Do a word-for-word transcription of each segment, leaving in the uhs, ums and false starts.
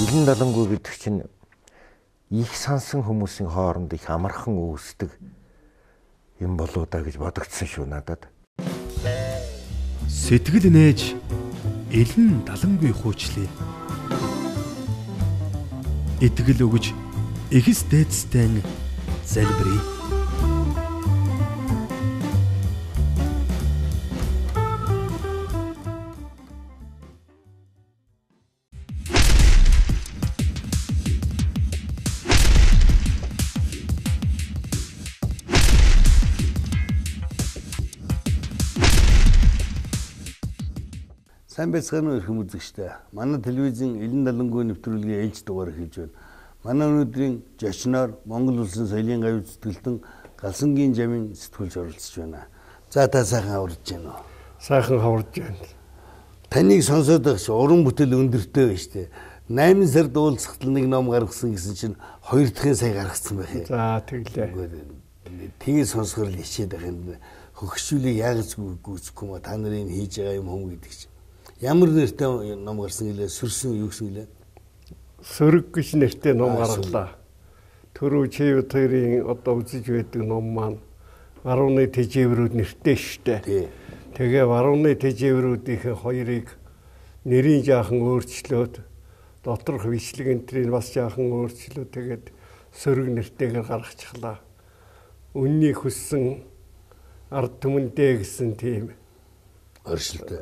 Илэн далангүй гэдэг чинь их сансан хүмүүсийн хооронд их амархан үүсдэг юм болоо да гэж бодогдсон шүү надад. Сэтгэл нээж илэн далангүй хуучлаа. Итгэл өгж эхс дээдстэй залбирая. Сайн байцгаана уу эрхэм үзэгчдээ. Манай телевизийн Илэн далангүй нэвтрүүлгийн ээлж дугаар хийж байна. Манай өнөөдрийн зочноор Монгол улсын соёлын гавь зүтгэлтэн Галсангийн жамын сэтгүүлч оролцож байна. За та сайхан хаварж байна уу? Сайхан хаварж байна. Таныг сонсоод байх чи уран бүтээл өндөртэй байна шүү дээ. найман сард уулзахтал нэг ном гаргасан гэсэн чинь хоёр дахин сая гаргацсан байх юм. За тэглээ. Тэгээ сонсгор л хичээд байх юм. Хөгшүүлийг яг гүйцэхгүй ма та нарын хийж байгаа юм хүм гэдэг чинь. Ямар нэртэй ном гарсан гэлээ сүрсэн юу гэсэн гэлээ? Сөрөг гэж нэртэй ном гарлаа. Төрөө чивэд хоёрын одоо үзэж байдаг ном маань Варуны тэжээврүүд нэртэй штэ. Тэгээ Варуны тэжээврүүдийн хоёрыг нэрийн жаахан өөрчлөөд доторх бичлэг энтрийг бас жаахан өөрчлөөд тэгээд сөрөг нэртэйгээр гаргачихлаа. Үнний хүссэн ард түмэндээ гэсэн тийм оршилтой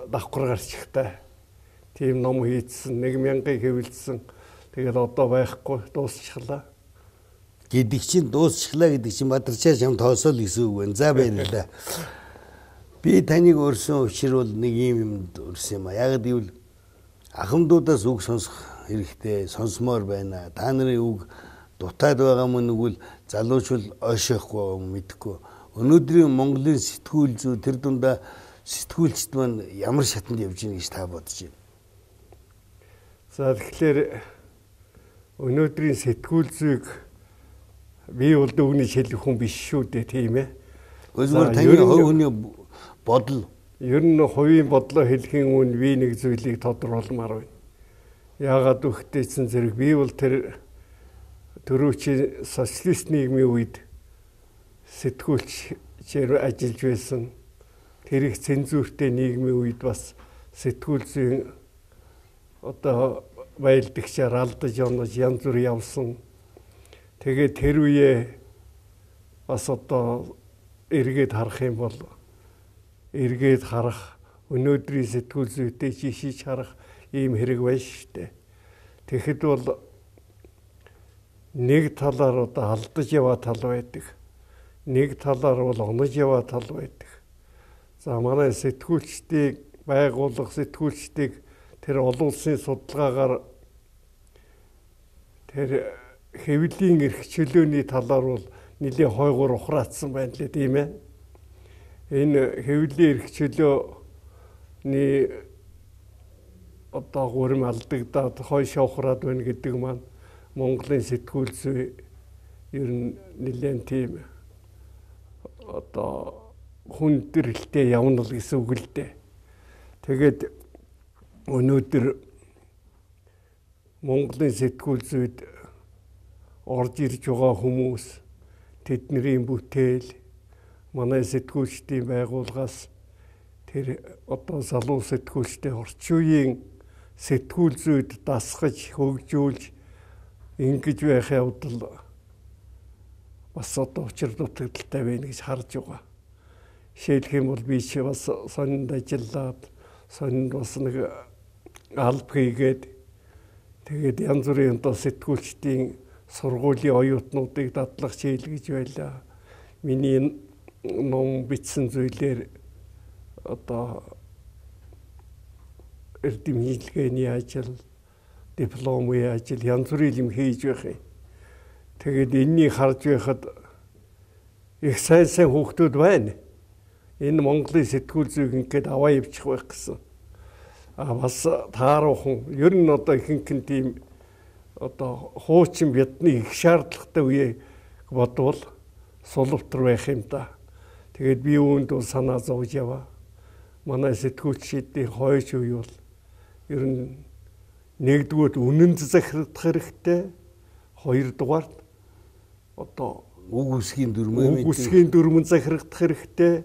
давхар гарчихтай. Тийм ном хийдсэн, нэг мянган хэвлэлсэн. Тэгээд одоо байхгүй дуусчихлаа. Гэдэг чинь дуусчихлаа гэдэг чинь Бадарчаа шам тоосоо л гэсэн үг байна. За баярлалаа. Би таныг өрсөн учир бол нэг юм юмд өрсөн юм а. Яг гэвэл ахмадуудаас үг сонсох хэрэгтэй, сонсомоор байна. Та нарын үг дутаад байгаа мөн нүгэл залуучвал ойшоохгүй мэдэхгүй. Өнөөдрийн Монголын сэтгүүл зүй тэр дундаа сэтгүүлчд маань ямар шатанд явж байна гэж та бодож байна? За тэгэхээр өнөөдрийн сэтгүүл зүйг би бол дөгний шилэх хүн биш шүү дээ, тийм ээ. Өөрөөр таны хувь хүний бодол. Ер нь хувийн бодлоо хэлхийн үн би нэг зүйлийг тодорхойлмаар байна. Яагаад үхтэйсэн зэрэг би бол тэр төрөөчийн социалист нийгмийн үед сэтгүүлчээр ажиллаж байсан. Тэр их цензуртэй нийгмийн үед бас сэтгүүл зүйн одоо байлдагчаар алдаж онож янз бүр явсан. Тэгээд тэр үе бас одоо эргээд харах юм бол эргээд харах өнөөдрийн сэтгүүл зүйтэй жишиж харах ийм хэрэг байна шүү дээ. Тэгэхэд бол нэг талаар одоо алдаж яваа тал байдаг. Нэг талаар бол онож яваа тал байдаг. За манай сэтгүүлчдийг байгуулах сэтгүүлчдийг тэр олон улсын судалгаагаар тэр хэвлэлийн эрх чөлөөний талаар бол нэлийн хойгоор ухраацсан байна лээ, тийм ээ. Энэ хэвлэлийн эрх чөлөөний одоо гурим алдагдаад хойшоо ухраад байна гэдэг маань Монголын сэтгүүл зүй ер нь нэлийн тийм одоо хүндрэлтэй явна л гэсэн үг л дээ. Тэгээд өнөөдөр Монголын сэтгүүл зүйд орж ирж байгаа хүмүүс тэдний бүтээл манай сэтгүүлчдийн байгууллагаас тэр одоо залуу сэтгүүлчтэй орчин үеийн сэтгүүл зүйд дасгаж хөгжүүлж ингэж байх явдал бас одоо учир дутагдaltaй байна гэж харж байгаа. Жишээлх юм бол би чи бас сонинд ажиллаад сонинд бас нэг алба хийгээд тэгээд янз бүрийн одоо сэтгүүлчдийн сургуулийн оюутнуудыг дадлах чийл гэж байлаа. Миний ном бичсэн зүйлээр одоо эрдэм хийлгээний ажил, дипломын ажил янз бүрийн юм хийж байх юм. Тэгээд энэнийг харж байхад их сайн сайн хүүхдүүд байна. Энэ Монголын сэтгүүл зүйг ингээд аваа явчих байх гэсэн. А бас тааруухан ер нь одоо ихэнх нь тийм одоо хуучин бидний их шаардлагатай үеийг бодвол сулвтар байх юм да. Тэгээд би үүнд бол санаа зовж яваа. Манай сэтгүүлчдийн хойш үе бол ер нь нэгдүгээр үнэн захирагдах хэрэгтэй, хоёрдугаар одоо үг үсгийн дүрмээ үг үсгийн дүрмэн захирагдах хэрэгтэй,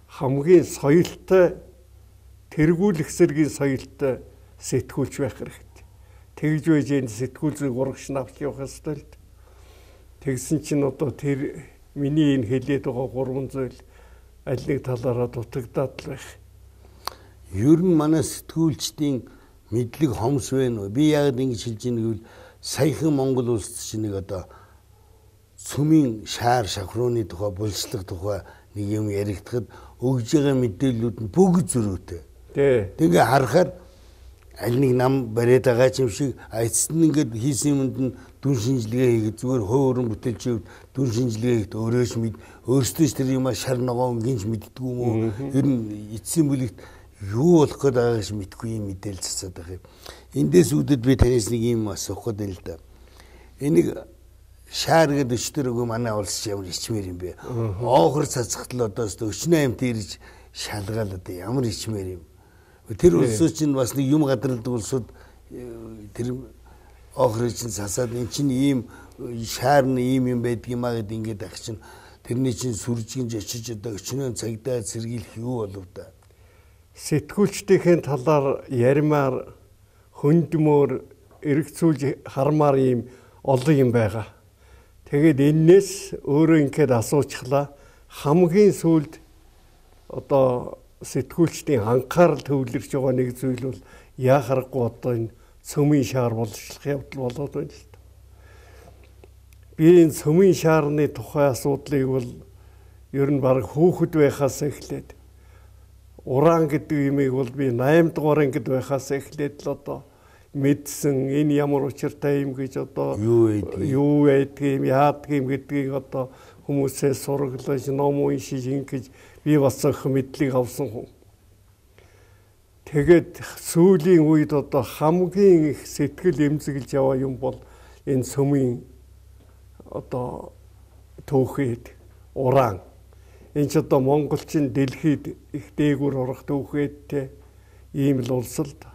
хамгийн соёлтой тэргүүлэх зэргийн соёлтой сэтгүүлч байх хэрэгтэй. Тэгж байж энэ сэтгүүл зүйг урагш навч явах ёстой л. Тэгсэн чинь одоо тэр миний энэ хэлээд байгаа гурван зүйл аль нэг талаараа дутагдаад л байх. Ер нь манай сэтгүүлчдийн мэдлэг хомс байна уу? Би яг ингэж хэлж ийнэ гэвэл саяхан Монгол улсад чинь нэг одоо цөмийн шаар шавхрууны тухай, булчлах тухай нэг юм яригдахад өгж байгаа мэдээллүүд нь бүгд зөрүүтэй. Тий. Тэгээ харахаар аль нэг нам бариад байгаа юм шиг эцэст нь ингээд хийсэн юмд нь дүн шинжилгээ хийгээд зүгээр хөөрөн бүтээлчүүд дүн шинжилгээ хийхэд өөрөөс мэд өөрсдөө ч тэр юм шар ногоон гинж мэддэггүй юм уу? Ер нь эцсийн бүлэгт юу болох гээд байгааг ч мэдгүй юм мэдээлэл цацаад байгаа юм. Эндээс үүдээд би танаас нэг юм асуух гээд байна л да. Энийг шаар гэдэг өчтөр өгөө манай улс ямар ичмээр юм бэ? Оохор цацгатал одоо өчнөө амт ирж шалгаал одоо ямар ичмээр юм. Тэр улсууд чинь бас нэг юм гадралдаг улсууд тэр оохрыг чинь цасаад эн чинь ийм шаар нь ийм юм байдгийм аа гэд ингээд ах чинь тэрний чинь сүржигж очиж одоо өчнөө цагдаа сэргийлэх юу болов да. Сэтгүүлчдийн талаар ярмаар хөндмөр эргцүүлж хармаар ийм олон юм байгаа. Тэгээд энээс өөрөө ингээд асуучглаа хамгийн сүүлд одоо сэтгүүлчдийн анхаарал төвлөрч байгаа нэг зүйл бол яахарахгүй одоо энэ цөмийн шаар боловчлох явдал болоод байна л да. Би энэ цөмийн шаарны тухай асуудлыг бол ер нь баг хүүхэд байхаас эхлээд уран гэдэг юмыг бол би восемь дугаар ангид байхаас эхлээд л одоо мэдсэн энэ ямар учиртай юм гэж одоо юу байдгийг яадгийг гэдгийг одоо хүмүүсээс сураглаж ном уншиж ингэж би бас их мэдлэг авсан хүн. Тэгээд сүүлийн үед одоо хамгийн их сэтгэл эмзэглэж яваа юм бол энэ цөмийн одоо түүхэд уран. Энэ ч одоо монголчин дэлхийд их дээгүүр орох түүхэдтэй ийм л улс л да.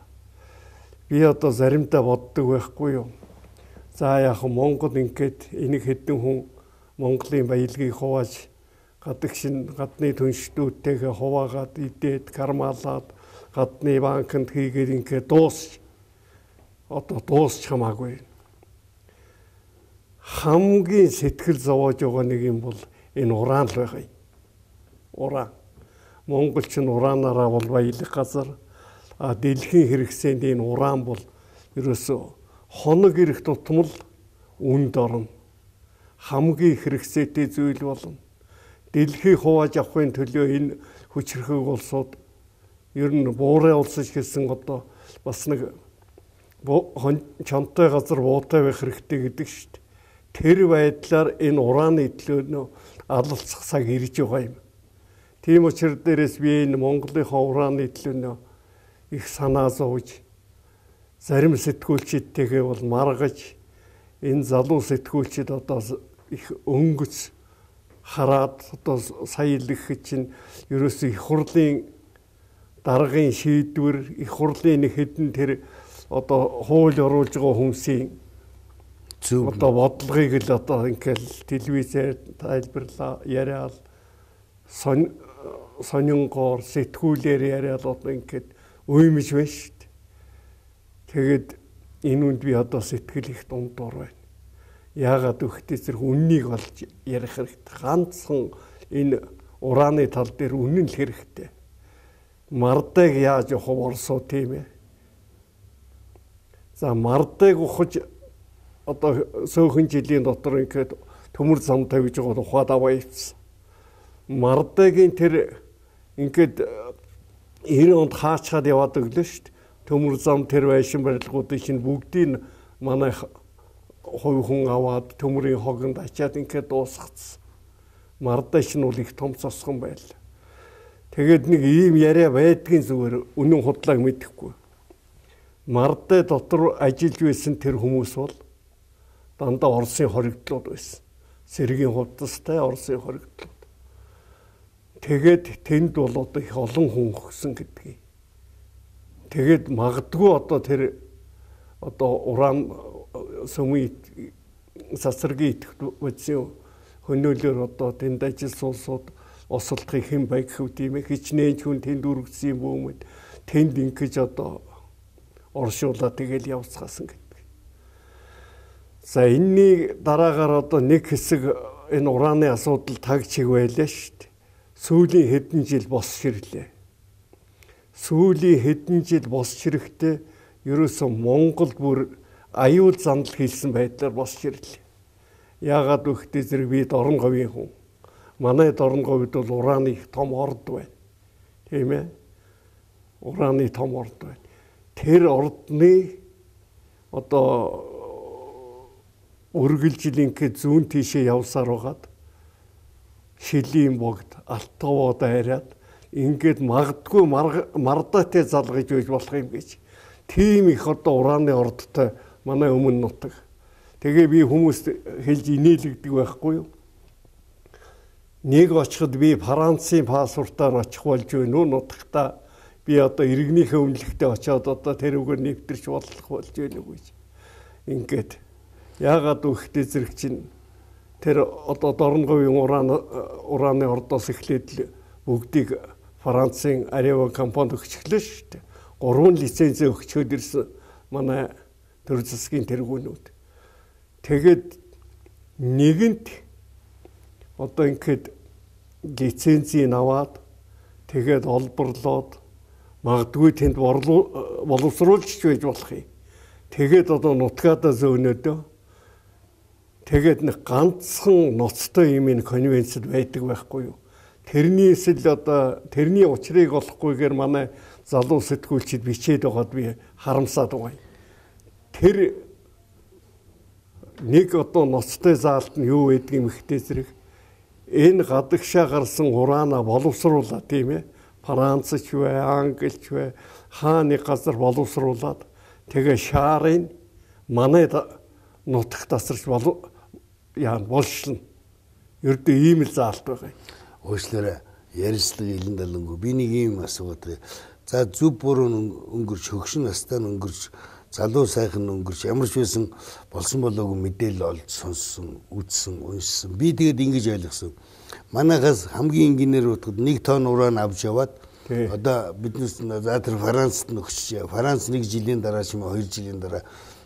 Би одоо заримдаа боддог байхгүй юу. За яг Монгол ингээд энийг хэдэн хүн Монголын баялагийг хувааж гадагшин гадны түншлүүдтэйгээ хуваагаад идээд кармалаад гадны банкнд хийгээд ингээд дуусч одоо дуусч хамаагүй. Хамгийн сэтгэл зовоож байгаа нэг юм бол энэ уран л байгаа юм. Уран. Монголч нь ураанаараа бол баялаг газар. А дэлхийн хэрэгсэнд энэ уран бол ерөөсөө хоног ирэх тутмал үнд орно. Хамгийн хэрэгцээтэй зүйл болно. Дэлхийг хувааж авахын төлөө энэ хүчрхэг улсууд ер нь буурай улсч гэсэн одоо бас нэг чонтой газар буутай байх хэрэгтэй гэдэг шүү дээ. Тэр байдлаар энэ ураны төлөө алалцах цаг ирж байгаа юм. Тийм учраас дээрээс би энэ Монголынхаа ураны төлөө их санаа зовж зарим сэтгүүлчидтэйгээ бол маргаж энэ залуу сэтгүүлчид одоо их өнгөц хараад одоо саялах чинь ерөөсөө их хурлын даргын шийдвэр их хурлын нэг хэдэн тэр одоо хууль оруулж байгаа хүмүүсийн зөв одоо бодлогыг л одоо ингээл телевизээр тайлбарлаа яриад сонингоор сэтгүүлээр яриад одоо ингээд уймж байна шүү дээ. Тэгээд энэ үнд би одоо сэтгэл их дундуур байна. Яагаад гэвэл зэрэг үннийг олж ярих хэрэгтэй. Ганцхан энэ ураны тал дээр үнэн л хэрэгтэй. Мардыг яаж явах орсоо тийм ээ. За мардыг ухаж одоо сөөхөн жилийн дотор ингээд төмөр зам тавьж байгаа ухаад аваа ивсэн. Мардыгийн тэр ингээд эр онд хаачаад яваад өглөө шүү дээ. Төмөр зам тэр байшин барилгуудын чинь бүгдийг манай хувь хүн аваад төмөрийн хогонд ачаад ингээд дуусгацсан. Мардаш нь бол их том цосгон байл. Тэгээд нэг ийм яриа байдгийн зүгээр үнэн худлааг мэдэхгүй. Мардаа дотор ажиллаж байсан тэр хүмүүс бол дандаа Оросын хоригдлууд байсан. Сэргийн хувцастай Оросын хоригдлууд. Тэгээд тэнд бол одоо их олон хүн өгсөн гэдгийг. Тэгээд магадгүй одоо тэр одоо уран сүмийн сасаргийн идэвхтэй бодсон хөнөөлөөр одоо тэнд ажилласан улсууд осолдохыг хэн байг гэв тийм ээ хичнээн хүн тэнд үргэлжсэн юм бөөмөд тэнд ингэж одоо оршуулаа тэгэл явцгаасан гэдэг. За энэний дараагаар одоо нэг хэсэг энэ ураны асуудал таг чиг байлаа шүү дээ. Сүүлийн хэдэн жил босч ирлээ. Сүүлийн хэдэн жил босч ирэхдээ ерөөсөн Монголд бүр аюул зандал хийсэн байдлаар босч ирлээ. Яагаад гэвэл зэрэг би Дорн говийн хүн. Манай Дорн говьд бол ураны том орд байна. Тийм ээ. Ураны том орд байна. Тэр ордны одоо үргэлжилинхэ зүүн тийшээ явсаар байгаад Шилийн богд Алтовоо дайраад ингээд магадгүй мардаатай залгаж байж болох юм гэж. Тийм их одоо ураны ордтой манай өмнө нутаг. Тэгээ би хүмүүст хэлж инээлгдэг байхгүй юу? Нэг очиход би Францын паспортоор очих болж байна уу нутагта. Би одоо иргэнийхээ өмнөлөгтөө очиод одоо тэр үгээр нэвтэрч болох болж байна уу гэж. Ингээд яагаад үхтэй зэрэг чинь тэр одоо Дорн говийн уран ураны ордоос эхлээд бүгдийг Францын Арева компанид өгчихлээ шүү дээ. Гурван лиценз өгчөөд ирсэн манай төр засгийн тэргүүнүүд. Тэгээд нэгэнт одоо ингээд лицензийг аваад тэгээд олборлоод магадгүй тэнд боловсруулж байж болох юм. Тэгээд одоо нутгаадаа зөөнөдөө тэгээд нэг ганцхан ноцтой юм ин конвенцэд байдаг байхгүй юу. Тэрнээс л одоо тэрний учрыг олохгүйгээр манай залуу сэтгүүлчид бичээд байгаад би харамсаад байгаа. Тэр нэг одоо ноцтой заалт нь юу байдаг юм ихтэй зэрэг энэ гадагшаа гарсан ураана боловсруулаад тийм ээ. Францч вэ, англич вэ, хааны газар боловсруулаад тэгээ шаарын манай нутагт тасарч болов яа болшлно. Ердөө ийм л заалт байгаа. Уучлаарай ярьцлага илэн далангүй. Би нэг юм асуугаад. За зүв буруу өнгөрч хөгшин настаа өнгөрч залуу сайхан өнгөрч ямар ч байсан болсон болоогүй мэдээлэл олж сонссон, үзсэн, уншсан. Би тэгээд ингэж ойлгосон. Манайхаас хамгийн инженер утгад нэг тонн уран авч яваад одоо биднес за тэр Францд нөгч. Франц нэг жилийн дараа ч юм уу хоёр жилийн дараа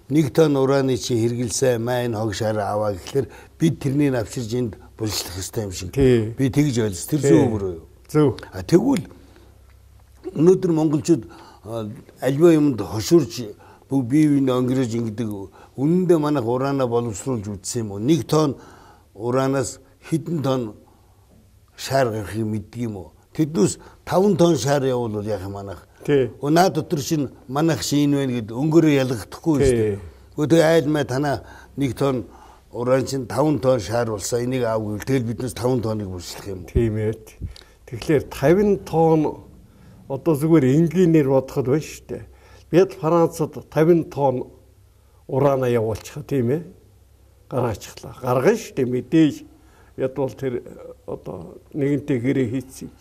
нэг тонн ураны чи хэргэлсэ майн хог шараа аваа гэхэлэр бид тэрнийг авчирж энд булчлах хэрэгтэй юм шиг. Би тэгж ойлгос. Тэр зөв өөрөө юу? Зөв. А тэгвэл өнөөдөр монголчууд альва юмд хошуурч бүгд бие биенээ өнгөрөөж ингэдэг. Үнэндээ манайх ураанаа боловсруулж үзсэн юм уу? Нэг тонн ураанаас хэдэн тонн шаар гарахыг мэддэг юм уу? Тэднээс таван тонн шаар явуул яах юм манайх? Өнөө дотор шин манайх шин байна гэд өнгөрөө ялгахдаггүй шүү дээ. Гэхдээ айл мэ танаа нэг тонн уран чин таван тонн шаар болсон. Энийг аав гэвэл тэгэл биднээс таван тонныг булчлах юм. Тийм ээ. Тэгэхээр таван тонн одоо зүгээр энгийнээр бодоход байна шүү дээ. Бид Францад таван тонн ураана явуулчих тийм ээ. Гаргаачихлаа. Гаргана шүү дээ мэдээж. Яд бол тэр одоо нэгэнтээ гэрээ хийцсэн юм.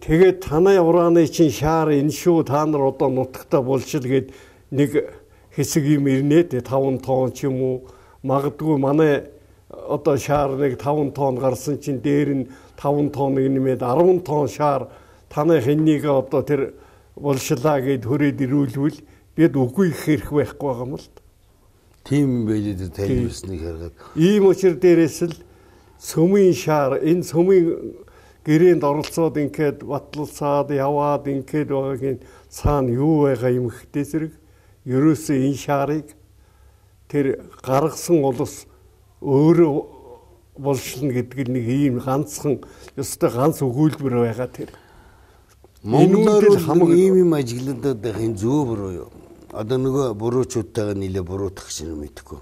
Тэгээд танай урааны чинь шаар энэ шүү та нар одоо нутагтаа булшил гээд нэг хэсэг юм ирнэ тэ таван тонн ч юм уу магадгүй манай одоо шаар нэг таван тонн гарсан чинь дээр нь таван тонн нэмээд арван тонн шаар танай хэннийг одоо тэр булшлаа гээд хүрээд ирүүлвэл бид үгүй их хэрэг байхгүй байгаа юм л. Тийм байлээ тэр тайлбарсныг хараад. Ийм учир дээрээс л сүмийн шаар энэ сүмийн гэрээнд оролцоод ингээд батлалцаад яваад ингээд байгаагийн цаана юу байгаа юм хтэй зэрэг ерөөсөө энэ шаарыг тэр гаргасан улс өөрөө болшлно гэдэг нэг ийм ганцхан ёстой ганц өгүүлбэр байгаа тэр. Монголоор хамаг ийм юм ажиглагдаад байх энэ зөв буруу юу? Одоо нөгөө буруучуудтайгаа нийлээ буруутгах шиг мэдхгүй.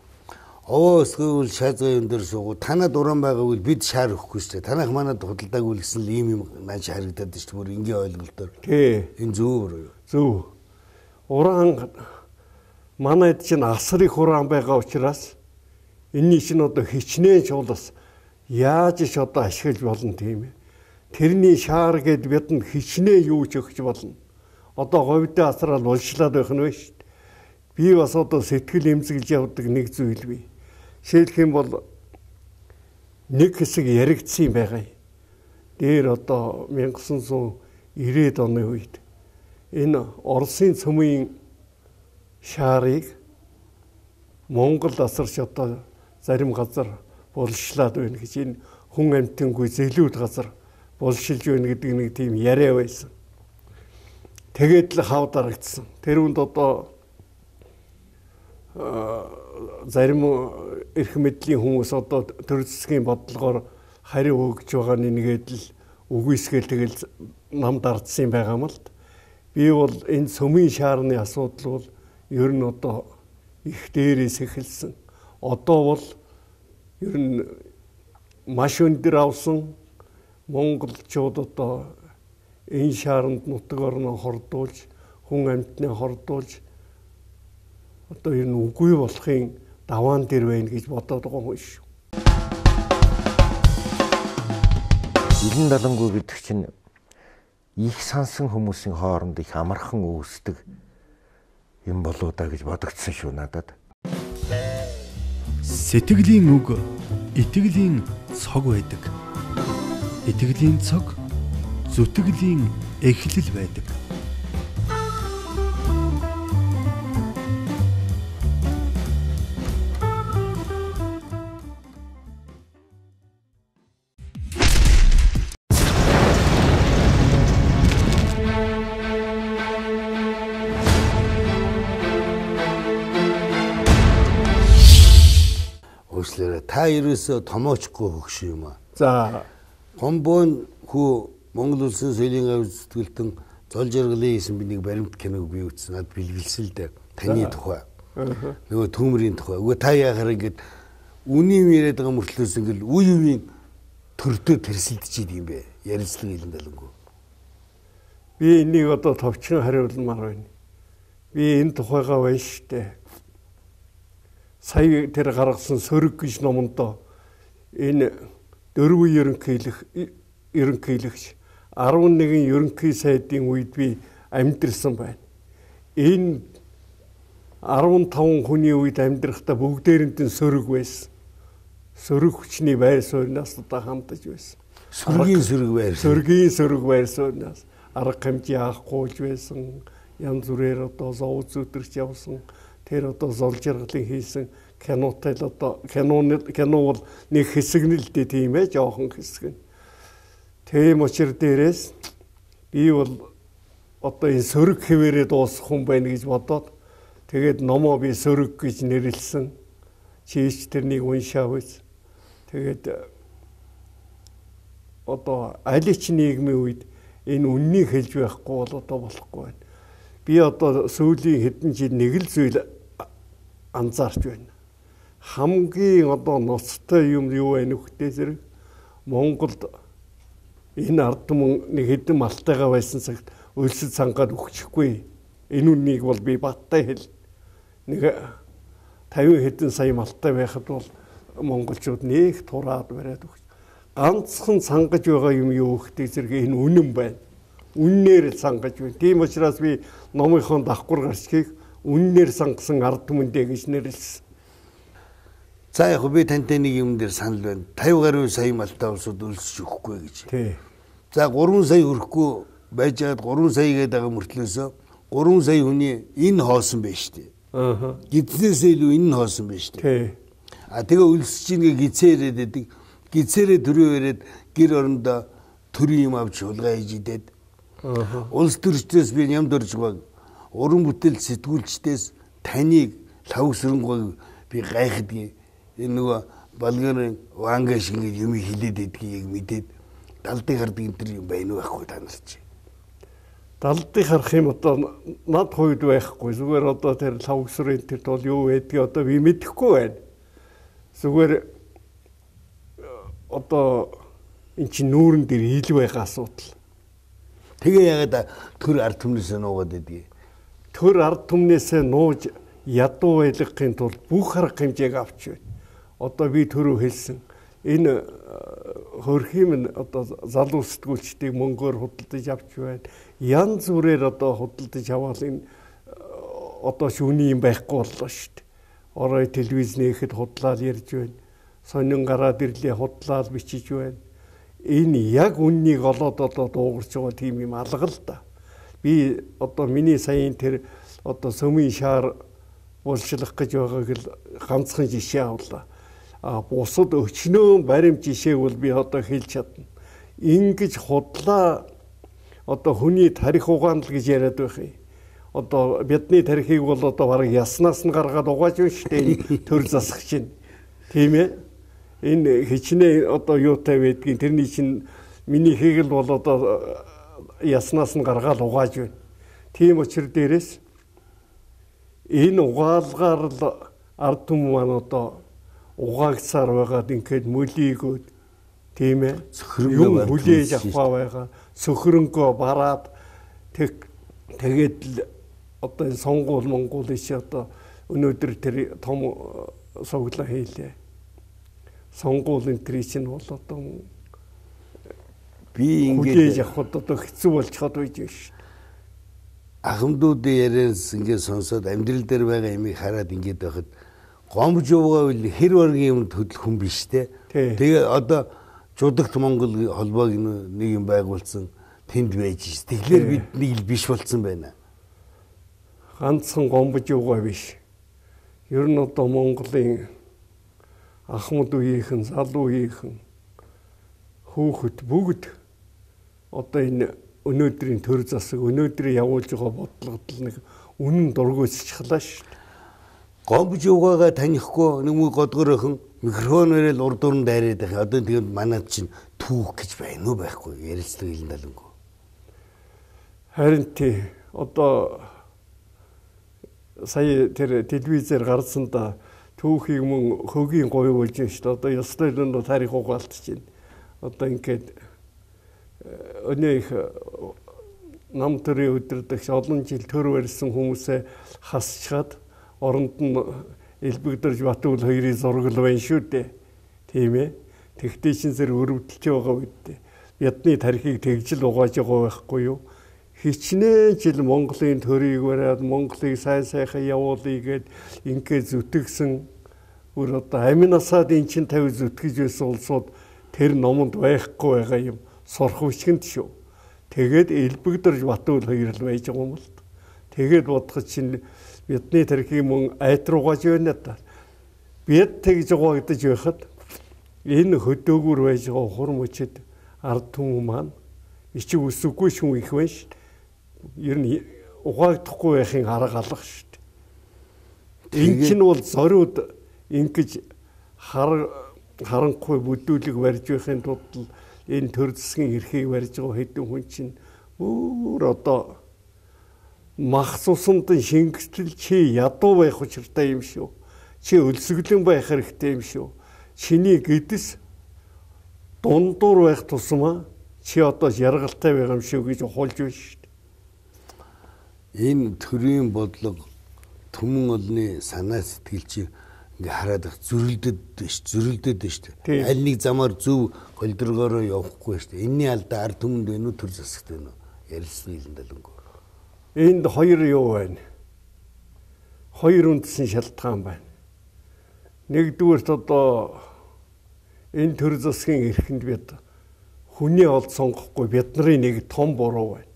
Овоо эсвэл шаазгаа юм дээр суугу танад уран байгаагүй бид шаар өгөхгүй шүү дээ. Танах манад худалдаагүй гэсэн л ийм юм нааш харагдаад шүү дээ. Бүр энгийн ойлголтоор. Тий. Энэ зөв буруу юу? Зөв. Уран манайд чинь асар их уран байгаа учраас энэний чинь одоо хичнээн чуулас яаж ич одоо ашиглаж болно тийм ээ. Тэрний шаар гээд бидэнд хичнээн юу ч өгч болно. Одоо говьдээ асрал булшлаад байх нь вэ шүү дээ. би бас одоо сэтгэл эмзэглэж явдаг нэг зүйл бий. Жишээлх юм бол нэг хэсэг яригдсан байгаа. Дээр одоо 천ix девяносто оны үед энэ Оросын цөмийн шаарыг Монгол асарч одоо зарим газар булшлаад байна гэж энэ хүн амьтангүй зэлүүд газар булшилж байна гэдэг нэг тийм яриа байсан. Тэгээд л хав дарагдсан. Тэр үнд одоо зарим эрх мэдлийн хүмүүс одоо төр засгийн бодлогоор хариу өгж байгаа нэгээд л үгүйсгээл тэгэл нам дардсан байгаа юм л. Би бол энэ цөмийн шаарны асуудал бол ер нь одоо их дээрээс эхэлсэн. Одоо бол ер нь маш өндөр авсан монголчууд одоо энэ шаарнд нутаг орноо хордуулж, хүн амьтнаа хордуулж одоо ер нь үгүй болохын даваан дээр байна гэж бодоод байгаа юм шүү. Илэн далангуй гэдэг чинь их сансан хүмүүсийн хооронд их амархан үүсдэг юм болоо да гэж бодогдсон шүү надад. Сэтгэлийн үг итгэлийн цог байдаг. Итгэлийн цог зүтгэлийн эхлэл байдаг. Та ерөөсөө томоочгүй хөгш юм аа. За Гомбон хүү Монгол улсын соёлын гавь зүтгэлтэн зол жаргалын хийсэн би нэг баримт киног бий үзсэн. Над бэлгэлсэн л дээ. Таны тухай. Нөгөө төмрийн тухай. Үгүй та яхаар ингэж үнийн яриад байгаа мөртлөөс ингээл үе үеийн төрдөө тэрсэлдэж идэм бэ. Ярилцлага илэн далангуу. Би энийг одоо товчхон хариулмаар байна. Би энэ тухайгаа байна штэ. Сая тэр гаргасан сөрөг гэж номонд энэ дөрвөн ерөнхийлөх ерөнхийлөгч арван нэгэн ерөнхий сайдын үед би амьдэрсэн байна. Энэ арван таван хүний үед амьдрахдаа бүгдээрэнд нь сөрөг байсан. Сөрөг хүчний байр сууриас одоо хандаж байсан. Сөргийн сөрөг байр. Сөргийн сөрөг байр сууриас арга хэмжээ авахгүйж байсан. Янз бүрээр одоо зов зүтэрч явсан. Тэр одоо зол жаргалын хийсэн кинотой л одоо кино кино бол нэг хэсэг нь л дээ тийм ээ жоохон хэсэг нь. Тийм учраас дээрээс би бол одоо энэ сөрөг хэвээрээ дуусах хүн байна гэж бодоод тэгээд номоо би сөрөг гэж нэрлсэн. Чийч тэрнийг уншаав үз. Тэгээд одоо аль ч нийгмийн үед энэ үннийг хэлж байхгүй бол одоо болохгүй байна. Би одоо сүүлийн хэдэн жил нэг л зүйл анзаарч байна. Хамгийн одоо ноцтой юм юу вэ нөхдөд зэрэг Монголд энэ ард түмэн нэг хэдэн малтайгаа байсан цагт өлсөд цангаад өгчихгүй. Энэ үнийг бол би баттай хэл. Нэг тавин хэдэн сая малтай байхад бол монголчууд нэг тураад бариад өгч. Ганцхан цангаж байгаа юм юу гэх зэрэг энэ үнэн байна. Үннээр цангаж байна. Тийм учраас би номынхон давхар гарчгийг үннээр сангасан ард түмэндээ гэж нэрлсэн. За яг би тантай нэг юм дээр санал байна. пятьдесят гаруй сая малтай улсууд өлсөж өгөхгүй гэж. Тий. За три сая хүрэхгүй байж байгаад три сая гээд байгаа мөртлөөсөө три сая хүний энэ хоосон байж штэ. Аа. Гидснээсээ илүү энэ хоосон байж штэ. Тий. А тэгээ өлсөж ийнгээ гизээрэд байдаг. Гизээрээ төрөө ирээд гэр орондоо төрийн юм авч хулгай хийж идээд. Аа. Улс төрчдөөс би нямд орж баг. Уран бүтээл сэтгүүлчдээс таныг лавсрангуй би гайхдаг. Энэ нөгөө Болгарын ванга шиг юм хилээд байдгийг мэдээд далдыг хардаг энэ төр юм байна уу байхгүй та нар чи. Далдыг харах юм одоо над хувьд байхгүй. Зүгээр одоо тэр лавсрын тэр бол юу байдгийг одоо би мэдэхгүй байна. Зүгээр одоо эн чинь нүүрэн дээр ил байгаа асуудал. Тэгээ ягаад төр ард түмнээсээ нуугаад байдгийг. Төр ард түмнээсээ нууж ядуу байлгахын тулд бүх арга хэмжээг авч байна. Одоо би түрүү хэлсэн энэ хөрхим одоо залуу сэтгүүлчдийг мөнгөөр худалдаж авч байна. Янз бүрээр одоо худалдаж аваад энэ одоо шүүний юм байхгүй боллоо шүү дээ. Орой телевиз нээхэд худлаад ярьж байна. Сонин гараад ирлээ худлаад бичиж байна. Энэ яг үннийг олоод одоо дуугарч байгаа тийм юм алга л да. Би одоо миний саяын тэр одоо сөмийн шаар уулчлах гэж байгааг л ганцхан жишээ авлаа. А бусад өчнөө баримт жишээг бол би одоо хэлж чадна. Ингиж худлаа одоо хүний тарих угаан л гэж яриад байх юм. Одоо бидний тарихыг бол одоо бараг яснаас нь гаргаад угааж байна шүү дээ. Төр засах чинь. Тийм ээ. Энэ хичнээн одоо юутай байдгийг тэрний чинь миний хийгэл бол одоо яснаас нь гаргаад угааж байна. Тийм учраас дээрээс энэ угаалгаар л ард түмэн маань одоо угаагцаар байгаад ингээд мөлийгөөд тийм ээ юм хүлээж авах байгаа сөхрөнгөө бараад тэг тэгээд л одоо энэ сонгуул монгол иш одоо өнөөдөр тэр том соглоо хийлээ. Сонгуул энэ тэр чинь бол одоо би ингээд хүлээж авахд одоо хэцүү болчиход байж байна шүү. Ахмадуудын яриас ингээд сонсоод амьдрал дээр байгаа юмыг хараад ингээд байхад гомж уугаа үл хэр баргийн юмд хөдлөх хүн биш те. Тэгээ одоо Жудагт Монгол холбоог нэг юм байгуулсан тэнд байж ш. Тэгэхээр бид нэг л биш болсон байна. Ганцхан гомбож уугаа биш. Ер нь одоо Монголын Ахмад үеийнхэн, залуу үеийнхэн хүүхэд бүгд одоо энэ өнөөдрийн төр засаг өнөөдрийн явуулж байгаа бодлогод нэг үнэн дургуйсчихлаа шүү дээ. Гомбож уугаагаа танихгүй нэг муу годгоройхон микрофоноор л урд уран дайраад байх. Одоо тэгээд манад чинь түүх гэж байна уу байхгүй ярилцлага хэлэн далангүй. Харин тий одоо сая тэр телевизээр гарсан да түүхийг мөн хөгийн гоё болж байна шүү дээ. Одоо ёстой л нь тарих угаалтж байна. Одоо ингээд өнөө их нам төрийн өдөрдөгч олон жил төр барьсан хүмүүсээ хасчаад оронд нь элбэгдэрж Батүл хоёрын зураг л байна шүү дээ. Тийм ээ. Тэгтээ чин зэрэг өрөвдөлж байгаа үед бидний тарихыг тэгжил угааж байгаа байхгүй юу? Хичнээн жил Монголын төрийг бариад Монголыг сайн сайхан явуулъя гэд ингээд зүтгэсэн бүр одоо аминасаад эн чин тавь зүтгэж байсан улсууд тэр номонд байхгүй байгаа юм сурах үчгэнд шүү. Тэгээд элбэгдэрж Батүл хоёр л байж байгаа юм л. Тэгээд бодох чинь бидний тарихыг мөн айтруугаж байна да. Бид тэгж угаагдаж байхад энэ хөдөөгөр байж байгаа хур мөчөд ард түмэн маань ичиг үсэггүй шүн их байна шүү. Ер нь угаагдахгүй байхын арга алга шүү дээ. Энэ чинь бол зориуд ингэж хар харанхуй бүдүүлэг барьж байхын тулд энэ төр засгийн эрхийг барьж байгаа хэдэн хүн чинь өөр одоо мах цусанд шингэтэл чи ядуу байх учиртай юм шүү. Чи өлсгөлэн байх хэрэгтэй юм шүү. Чиний гэдэс дундуур байх тусмаа чи одоо яргалтай байгаа юм шүү гэж ухуулж байна шүү. Энэ төрийн бодлого түмэн олны санаа сэтгэл чи ингээ хараад их зөрөлдөд биш зөрөлдөд биш. Аль нэг замаар зөв голдрогоороо явахгүй шүү. Энийний алдаа ард түмэнд байна уу төр засагт байна уу? Ярилцсан хэлэн далангүй. Энд хоёр юу байна? Хоёр үндсэн шалтгаан байна. Нэгдүгээрт одоо энэ төр засгийн эрхэнд бид хүний олд сонгохгүй бидний нэг том буруу байна.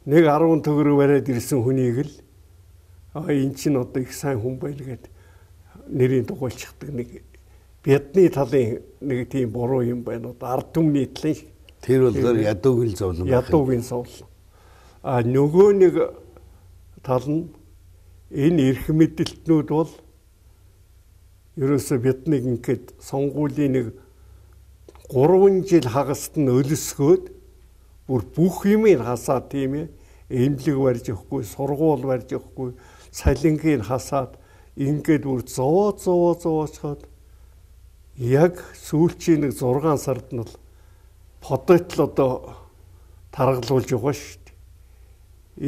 Нэг арван төгрөг бариад ирсэн хүнийг л а эн чинь одоо их сайн хүн байл гэд нэрийн дугуйлчихдаг нэг бидний талын нэг тийм буруу юм байна. Одоо ард түмний талын тэр бол ядуугийн зовлон байна. Ядуугийн зовлон. А нөгөө нэг тал нь энэ эрх мэдэлтнүүд бол ерөөсө биднийг ингээд сонгуулийн нэг гурван жил хагаст нь өлсгөөд бүр бүх юмыг хасаад тийм ээ эмнэлэг барьж өгөхгүй, сургууль барьж өгөхгүй, салингийг хасаад ингээд бүр зовоо зовоо зовоочход яг сүүлчийн нэг зургаан сард нь л подотл одоо таргалуулж байгаа шүү дээ.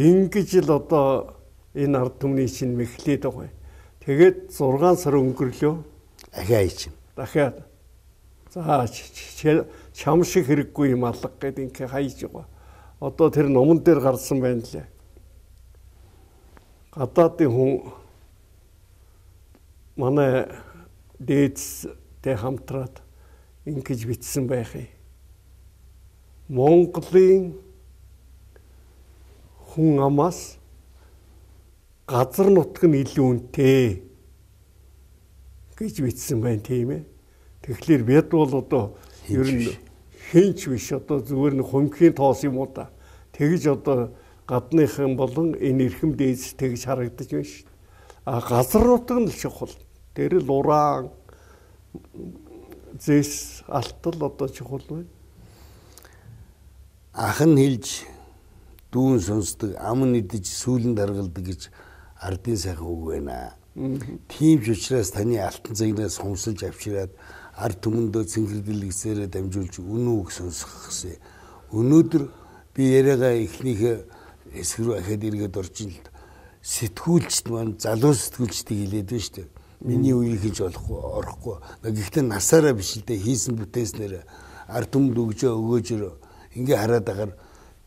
Ингэж л одоо энэ ард түмний чинь мэхлээд байгаа. Тэгээд зургаан сар өнгөрлөө. Ахиа чинь. Дахиад за чам шиг хэрэггүй юм алга гэд ингээ хайж байгаа. Одоо тэр номон дээр гарсан байна лээ. гадаадын хүн манай дээдстэй хамтраад ингэж бичсэн байх юм. Монголын хүн амаас газар нутг нь илүү үнэтэй гэж бичсэн байна тийм ээ. Тэгэхээр бид бол одоо ер нь хинч биш одоо зүгээр нэг хөнгөхийн тоос юм уу та. Тэгж одоо гадныхан болон энэ эрхэм дээдс тэгж харагдаж байна шүү дээ. А газар нутг нь чухал. Тэр л уран зэс алтал одоо чухал байна. Ахан хэлж дүүн сонсдог, ам нэгдэж сүүлэн даргалдаг гэж ардын сайхан үг байна. Тийм ч учраас таны алтан цагнаас хумсалж авчираад ард түмэндөө цэнхэрдэлгсээрээ дамжуулж үнэн үг сонсох гэсэн. Өнөөдөр би яриагаа эхнийхээ эсрэг рүү ахаад эргээд орж ин л сэтгүүлчд маань залуу сэтгүүлчдийг хэлээд байна шүү дээ. Миний үеийг хийж болохгүй, орохгүй. Гэхдээ насаараа биш л дээ хийсэн бүтээснээр ард түмэнд өгжөө өгөөжөр ингээ хараад агаар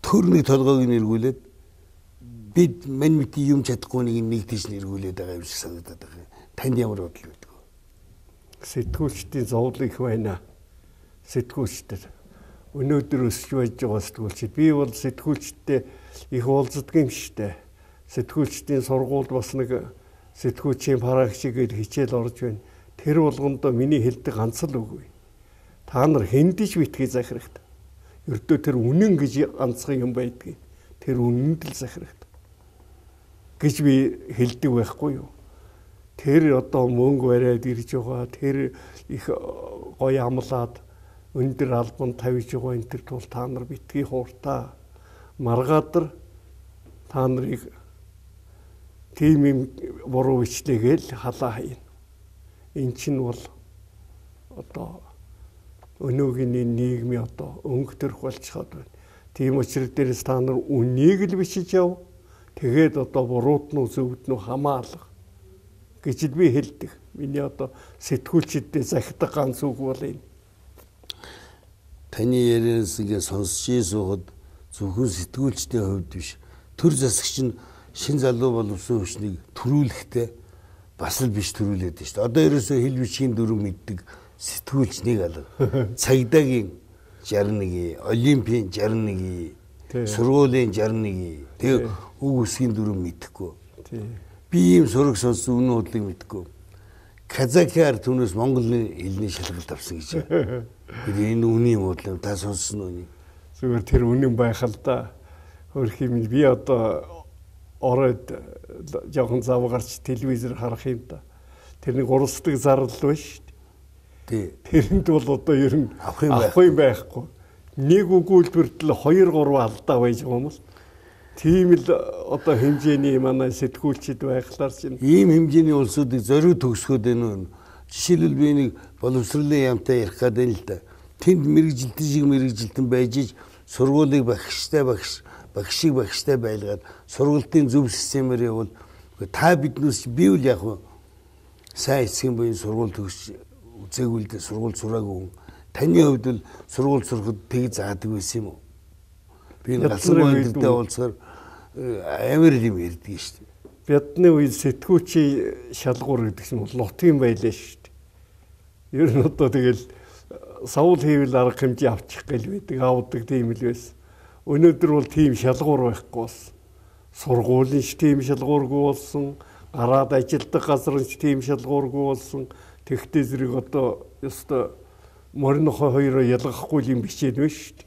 төрний толгойг нэргүүлээд бид мань мити юм чадахгүй нэг нэг тийш нэргүүлээд байгаа юм шиг санагдаад байгаа. Танд ямар бодол байдаг вэ? Сэтгүүлчдийн зовлон их байна. Сэтгүүлчдэр өнөөдөр өсөж байж байгаа сэтгүүлчид. Би бол сэтгүүлчдтэй их уулздаг юм шттэ. Сэтгүүлчдийн сургуульд бас нэг сэтгүүлчийн парагшигээр хичээл орж байна. Тэр болгондоо миний хэлдэг ганц л үг. Та нар хэндиж битгий захирагт. Ердөө тэр үнэн гэж ганцхан юм байдгийг. Тэр үнэнд л захирагт. Гэж би хэлдэг байхгүй юу? Тэр одоо мөнгө бариад ирж байгаа. Тэр их гоё амлаад өндөр албан тавьж байгаа энэ төр тул та нар битгий хууртаа. Маргадар та нарыг тийм юм буруу бичлэгээл халаа хаяна. Эн чинь бол одоо өнөөгийн нийгмийн одоо өнгө төрх болчиход байна. Тийм учраас дээрээс та нар үнийг л бичиж яв. Тэгээд одоо буруут нь зөвд нь хамаалах гэж би хэлдэг. Миний одоо сэтгүүлчдэд захидаг ганц үг бол энэ. Таны ярианаас ингээ сонсч суугаад зөвхөн сэтгүүлчдийн хувьд биш. Төр засагч нь шин залуу боловсон хүчнийг төрүүлэхдээ бас л биш төрүүлээд байна шүү дээ. Одоо ерөөсөө хэл бичгийн дүрм мэддэг сэтгүүлчнийг алга. Цагдаагийн шарн нэг, олимпийн шарн нэг, сургуулийн шарн нэг. Тэгээ үг үсгийн дүрм мэдэхгүй. Би ийм сураг сонссон үнэн худлыг мэдэхгүй. Казахаар түүнээс Монголын хэлний шалгалт авсан гэж. Энэ үнэн юм уу та сонссон уу? Зүгээр тэр үнэн байх л да. Хөрх юм би одоо ороод жоохон зав гарч телевизээр харах юм да. Тэр нэг уралсдаг зарлал байна шүү дээ. Тэрэнд бол одоо ер нь авах юм байхгүй. Нэг өгүүлбэртэл хоёр гурван алдаа байж байгаа юм л. Тийм л одоо хэмжээний манай сэтгүүлчид байхлаар чинь ийм хэмжээний улсуудыг зориуд төгсгөөд байна. Жишээлбэл би нэг боловсролын яамтай ярих гэдэг л да. Тэнд мэрэгжилтэн шиг мэрэгжилтэн байж иж сургуулийг багштай багш багшиг багштай байлгаад сургалтын зөв системээр явал та биднээс би үл яг сайн эцгийн буян сургууль төгс үзээгүй л дээ сургууль сураагүй. Таны хувьд л сургууль сурахад тэг заадаг байсан юм уу? Би галсан үйлдэлтэй уулзгаар амар юм ярьдаг шүү дээ. Бидний үед сэтгүүлчийн шалгуур гэдэг нь нутгийн байлаа шүү дээ. Ер нь одоо тэгэл савл хийвэл арга хэмжээ авчих гэл байдаг, авдаг тийм л байсан. Өнөөдөр бол тийм шалгуур байхгүй болсон. Сургуулийн ч тийм шалгуургүй болсон, гараад ажилладаг газар ч тийм шалгуургүй болсон. Тэгтээ зэрэг одоо ёстой моринохоо хоёроо ялгахгүй юм бичээд байна шүү дээ.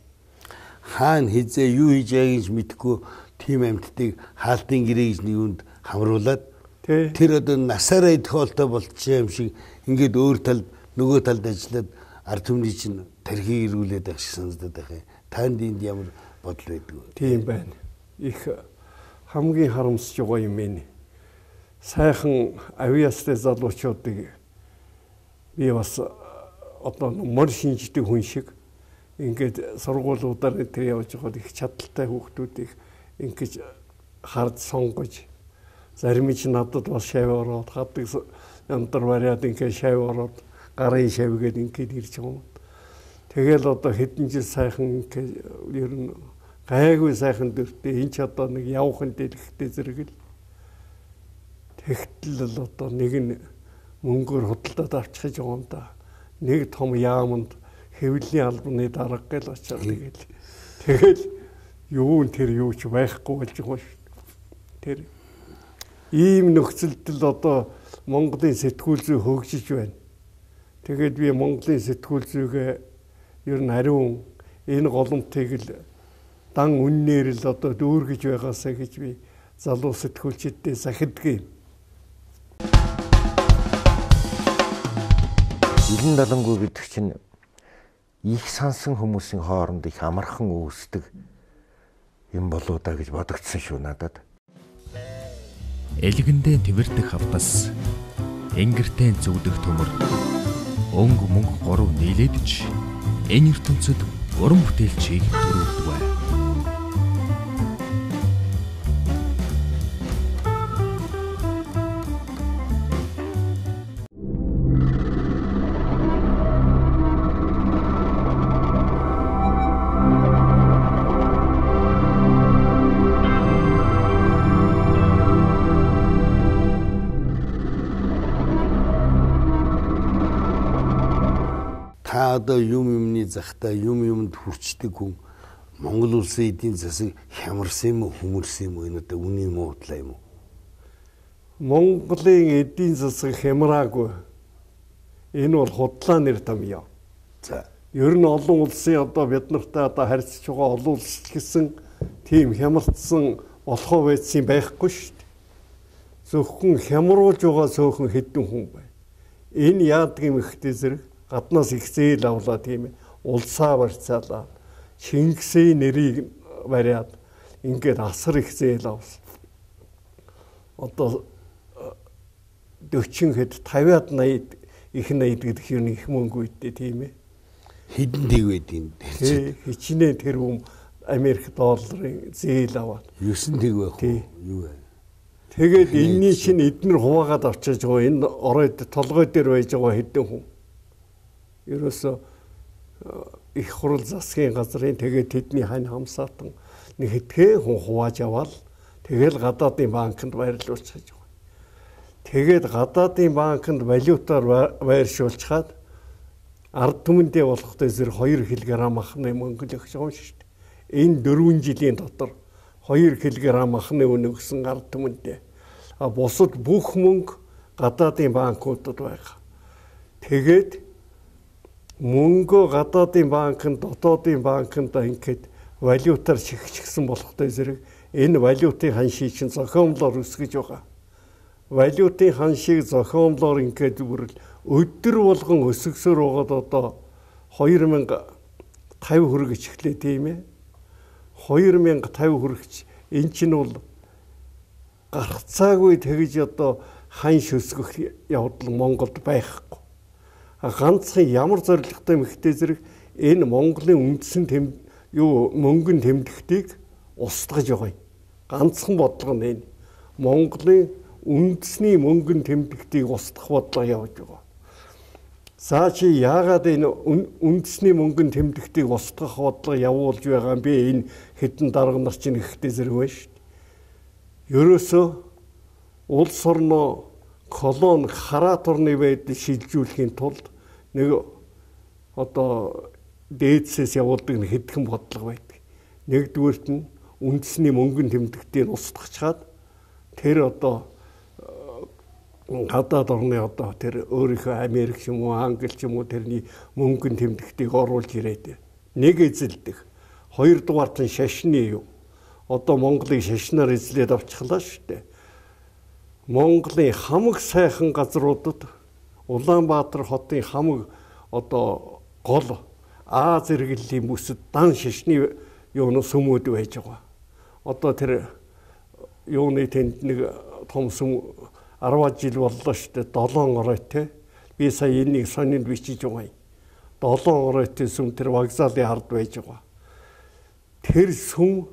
Хаана хизээ юу хийж байгааг нь мэдэхгүй тийм амьтдыг хаалтын гэрээ гэж нэг үнд хамруулад тэр одоо насаараа идэх болчихсон юм шиг ингээд өөр талд нөгөө талд ажиллаад ард түмний чинь тархийг ирүүлээд байх шиг санагдаад байх юм. Танд энд ямар бодол байдаг вэ? Тийм байна. Их хамгийн харамсаж байгаа юм ээ. Сайхан авиастай залуучуудыг би бас одоо мөр шинждэг хүн шиг ингээд сургуулиудаар тэр явж байгаад их чадaltaй хүүхдүүдийг ингэж хард сонгож зарим нь надад бас шав ороод хаддаг яндар бариад ингээд шав ороод гарын шавгээд ингээд ирж байгаа юм. Тэгэл одоо хэдэн жил сайхан ер нь гайгүй сайхан дөртөө энэ ч одоо нэг явхан дэлгэхтэй зэрэг л Тэгтэл л одоо нэг нь мөнгөөр худалдаад авчихж байгаа юм да. Нэг том яамд хэвлэлийн албаны дарга гэл очоод тэгэл. Тэгэл юу н тэр юу ч байхгүй болж байгаа шүү. Тэр ийм нөхцөлд л одоо Монголын сэтгүүл зүй хөгжиж байна. Тэгээд би Монголын сэтгүүл зүйгээ ер нь ариун энэ голомтыг л дан үннээр л одоо дүүргэж байгаасаа гэж би залуу сэтгүүлчдэд захиддаг юм. Илэн далангуй гэдэг чинь их сансан хүмүүсийн хооронд их амархан үүсдэг юм болоо да гэж бодогдсон шүү надад. Элгэндээ твэрдэх хавтас, энгэртээ зүгдэх төмөр, өнгө мөнгө гурав нийлээдж энэ ертөнцид уран бүтээлчийг төрүүлдэг. Та одоо юм юмны захтай юм юмд хүрчдэг хүн Монгол улсын эдийн засаг хямарсан юм уу, хүмүүрсэн юм уу? Энэ одоо үний юм уу, удлаа юм уу? Монголын эдийн засаг хямраагүй. Энэ бол худлаа нэр том юм. За. Ер нь олон улсын одоо бид нартай одоо харьцаж байгаа олон улс гэсэн тийм хямрцсан болохоо байсан байхгүй шүү дээ. Зөвхөн хямруулж байгаа цөөхөн хэдэн хүн байна. Энэ яадаг юм ихтэй зэрэг гаднаас их зээл авлаа тийм ээ. Улсаа барьцаалаа. Чингисийн нэрийг бариад ингээд асар их зээл авсан. Одоо дөрвөн хэд тавиад найд их найд гэдэг юм их мөнгө үйдээ тийм ээ. Хэдэн дэг байдیں۔ Хичнээн тэрбум Америк долларын зээл аваад. Юусэн дэг байх уу? Юу вэ? Тэгээд энэний чинь эднэр хуваагаад авчиж байгаа энэ оройд толгой дээр байж байгаа хэдэн хүн. Ерөөсө их хурал засгийн газрын тэгээд тэдний хань хамсаатан нэг хэдхэн хүн хувааж аваад тэгэл гадаадын банкнд байрлуулж гэж байгаа. Тэгээд гадаадын банкнд валютаар байршуулчихад ард түмэндээ болохтой зэрэг хоёр килограмм махны мөнгө л өгч байгаа юм шүү дээ. Энэ дөрвөн жилийн дотор хоёр килограмм махны үнэ өгсөн ард түмэндээ. А бусад бүх мөнгө гадаадын банкудад байгаа. Тэгээд мөнгө гадаадын банкнд, дотоодын банкнд ингээд валютаар шигчгсэн болохтой зэрэг энэ валютын ханшийг чинь зохиомлоор өсгөж байгаа. Валютын ханшийг зохиомлоор ингээд бүр өдөр болгон өсгсөөр байгаад одоо хоёр мянга тавь хүргэж эхлэе тийм ээ. хоёр мянга тавь хүргэж эн чинь бол гарцаагүй тэгж одоо ханш өсгөх явдал Монголд байхгүй. Ганцхан ямар зорилготой мэгтэй зэрэг энэ Монголын үндсэн тэм юу мөнгөн тэмдэгтийг устгаж байгаа юм. Ганцхан бодлого нь энэ. Монголын үндэсний мөнгөн тэмдэгтийг устгах бодлого явж байгаа. За чи яагаад энэ үндэсний мөнгөн тэмдэгтийг устгах бодлого явуулж байгаа юм бэ? Энэ хэдэн дарга нар чинь ихтэй зэрэг байна шүү дээ. Ерөөсөө улс орноо колон хараат орны байдал шилжүүлэхийн тулд нэг одоо дээдсээс явуулдаг нэг хэдхэн бодлого байдаг. Нэгдүгээрт нь үндэсний мөнгөн тэмдэгтийг устгахчаад тэр одоо гадаад орны одоо тэр өөрийнхөө Америк ч юм уу Англи ч юм уу тэрний мөнгөн тэмдэгтийг оруулж ирээд нэг эзэлдэг. Хоёрдугаарт нь шашны юу. Одоо Монголыг шашнаар эзлээд авчихлаа шүү дээ. Монголын хамаг сайхан газруудад Улаанбаатар хотын хамаг одоо гол А зэрэглэлийн бүсэд дан шашны юуны сүмүүд байж байгаа. Одоо тэр юуны тэнд нэг том сүм арван жил боллоо шүү дээ. долоон оройтой. Би сая энийг сонинд бичиж байгаа юм. долоон оройтой сүм тэр вокзалын хард байж байгаа. Тэр сүм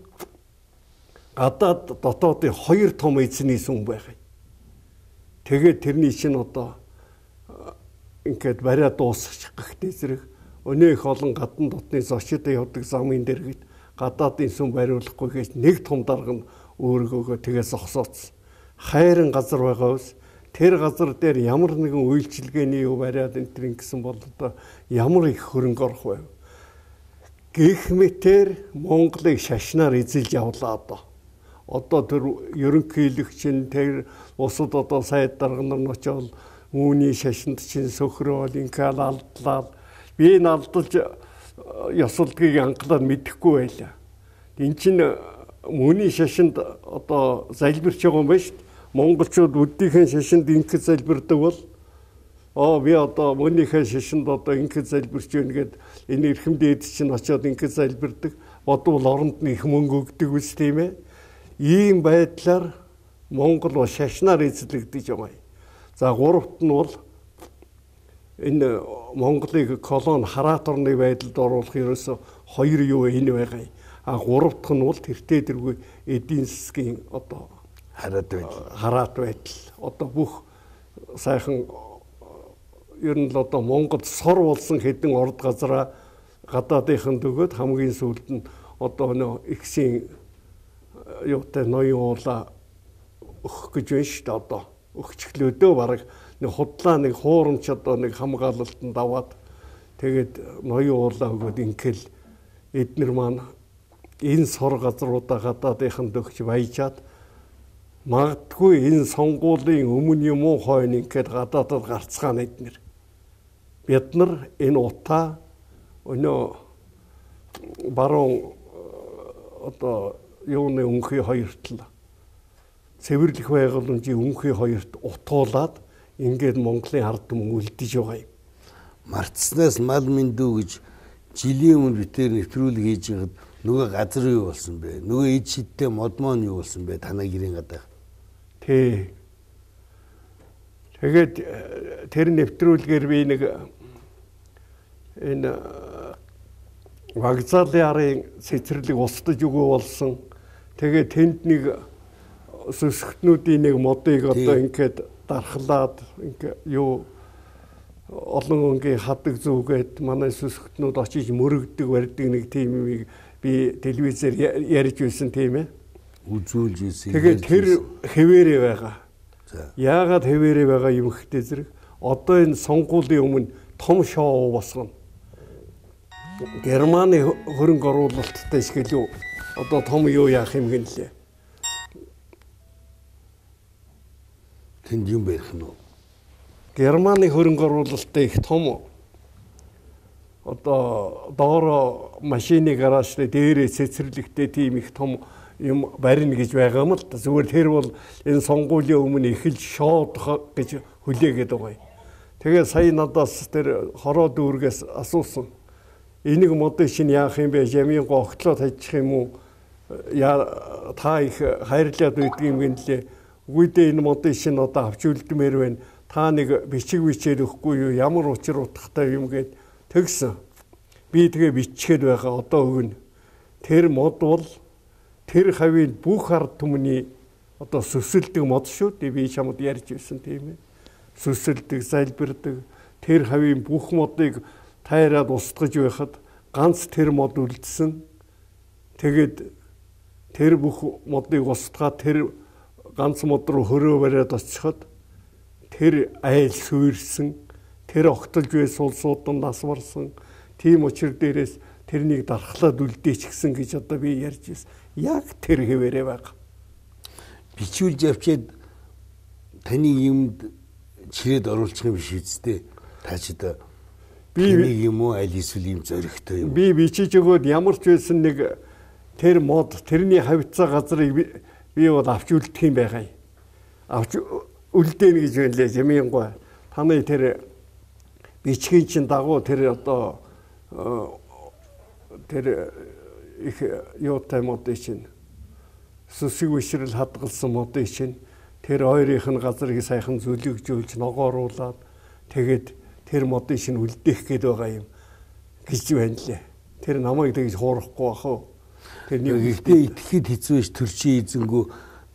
гадаад дотоодын хоёр том эзний сүм байгаа. Тэгээд тэрний чинь одоо ингээд бариа дуусчих гэхтэй зэрэг өнөө их олон гадна дотны зочид явдаг замын дэргэд гадаадын сүм бариулахгүй гэж нэг том дарга нь өөргөөгөө тэгээ зогсооцсон. хайрын газар байгаас тэр газар дээр ямар нэгэн үйлчилгээний юу бариад энэ төр ингэсэн бол одоо ямар их хөрөнгө орох вэ? Гэх мэтэр Монголыг шашнаар эзэлж явлаа одоо. Одоо тэр ерөнхийлөгч нь тэр усад одоо сайд дарга нар нь очоод үүний шашинд чинь сөхрөөл ингээл алдлаа. Би энэ алдалж ёсолдгийг анхлаад мэдэхгүй байлаа. Энд чинь мөний шашинд одоо залбирч байгаа юм байна шүү дээ. Монголчууд өдийнхээ шашинд ингээд залбирдаг бол оо би одоо мөнийхээ шашинд одоо ингээд залбирч байна гэд энэ эрхэм дээд чинь очиод ингээд залбирдаг. Бодвол оронд нь их мөнгө өгдөг үс тийм ээ. Ийм байдлаар Монгол бол шашнаар эзлэгдэж байгаа юм. За гуравт нь бол энэ Монголыг колон хараат орны байдалд оруулах ерөөсө хоёр юу энэ байгаа юм. А гуравдах нь бол тэртээ тэргүй эдийн засгийн одоо хараат байдал. Хараат байдал. Одоо бүх сайхан ер нь л одоо Монголд сор болсон хэдэн орд газараа гадаадынханд өгөөд хамгийн сүүлд нь одоо нөө ихсийн юутай ноён уула өгөх гэж байна шүү дээ одоо. Өгчглөөдөө бараг нэг худлаа нэг хуурамч одоо нэг хамгаалалтанд аваад тэгээд ноён уулаа өгөөд ингээл эднэр маань энэ сор газруудаа гадаадынханд өгч баяжаад магадгүй энэ сонгуулийн өмнө юм уу хойно ингээд гадаадад гарцгаана эднэр. Бид нар энэ утаа өнөө баруун одоо юуны өнхий хоёрт л цэвэрлэх байгууламжийн өнхий хоёрт утуулаад ингээд Монголын ард түмэн үлдэж байгаа юм. Мартснаас мал мэндүү гэж жилийн өмнө битээр нэвтрүүлэг хийж байгаад нөгөө газар юу болсон бэ? Нөгөө эд шидтэй модмон юу болсон бэ? Танай гэрийн гадаа. Тий. Тэгээд тэр нэвтрүүлгээр би нэг энэ вокзалын арын цэцэрлэг устдаж өгөө болсон. Тэгээд тэнд нэг сүсгтнүүдийн нэг модыг одоо ингээд дархлаад ингээ юу олон өнгийн хадаг зүгээд манай сүсгтнүүд очиж мөрөгдөг барьдаг нэг тийм юмыг би телевизээр ярьж байсан тийм ээ. Үзүүлж ирсэн. Тэгээд тэр хэвээрээ байгаа. Яагаад хэвээрээ байгаа юм хтэй зэрэг одоо энэ сонгуулийн өмнө том шоу босгоно. Германы хөрөнгө оруулалттай шиг л юу одоо том юу яах юм гэнлээ. Тэнд юм байх нь уу? Германы хөрөнгө оруулалттай их том одоо доороо машины гаражтай дээрээ цэцэрлэгтэй тийм их том юм барина гэж байгаа юм л да. Зүгээр тэр бол энэ сонгуулийн өмнө эхэлж шоудах гэж хүлээгээд байгаа юм. Тэгээ сая надаас тэр хороо дүүргээс асуусан. Энийг модыг чинь яах юм бэ? Жамийн гогтлоо тажих юм уу? Яа та их хайрлаад үйдэг юм гэнлээ. Үгүйдээ энэ модыг чинь одоо авч үлдмээр байна. Та нэг бичиг бичээд өгөхгүй юу? Ямар учир утгатай юм гээд тэгсэн. Би тэгээ бичгээд байгаа одоо өгнө. Тэр мод бол тэр хавийн бүх ард түмний одоо сүсэлдэг мод шүү дээ. Би чамд ярьж байсан тийм ээ. Сүсэлдэг, залбирдаг тэр хавийн бүх модыг тайраад устгаж байхад ганц тэр мод үлдсэн. Тэгээд тэр бүх модыг устгаад тэр ганц мод руу хөрөө бариад очиход тэр айл сүйрсэн, тэр огтолж байсан улсууд нь нас барсан. Тийм учир дээрээс тэрнийг дархлаад үлдээч гисэн гэж одоо би ярьж байсан. Яг тэр хэвээрээ байгаа. Бичүүлж авчиад таны юмд чирээд оруулчих юм биш үсттэй. Та ч одоо би юм уу аль эсвэл юм зөрөгтэй юм. Би бичиж өгөөд ямар ч байсан нэг тэр мод тэрний хавцаа газрыг би бол авч үлдэх юм байгаа юм. Авч үлдээнэ гэж байлаа жамийн гоо. Таны тэр бичгийн чин дагуу тэр одоо тэр их юутай модыг чинь сүсэг вишрэл хадгалсан модыг чинь тэр хоёрынх нь газрыг сайхан зүлэгжүүлж ногооруулаад тэгээд тэр модыг чинь үлдээх гээд байгаа юм гэж байна лээ. Тэр намайг тэгж хуурахгүй бах уу. Тэрний ихтэй итгэхэд хэцүү биш төрчин эзэнгүү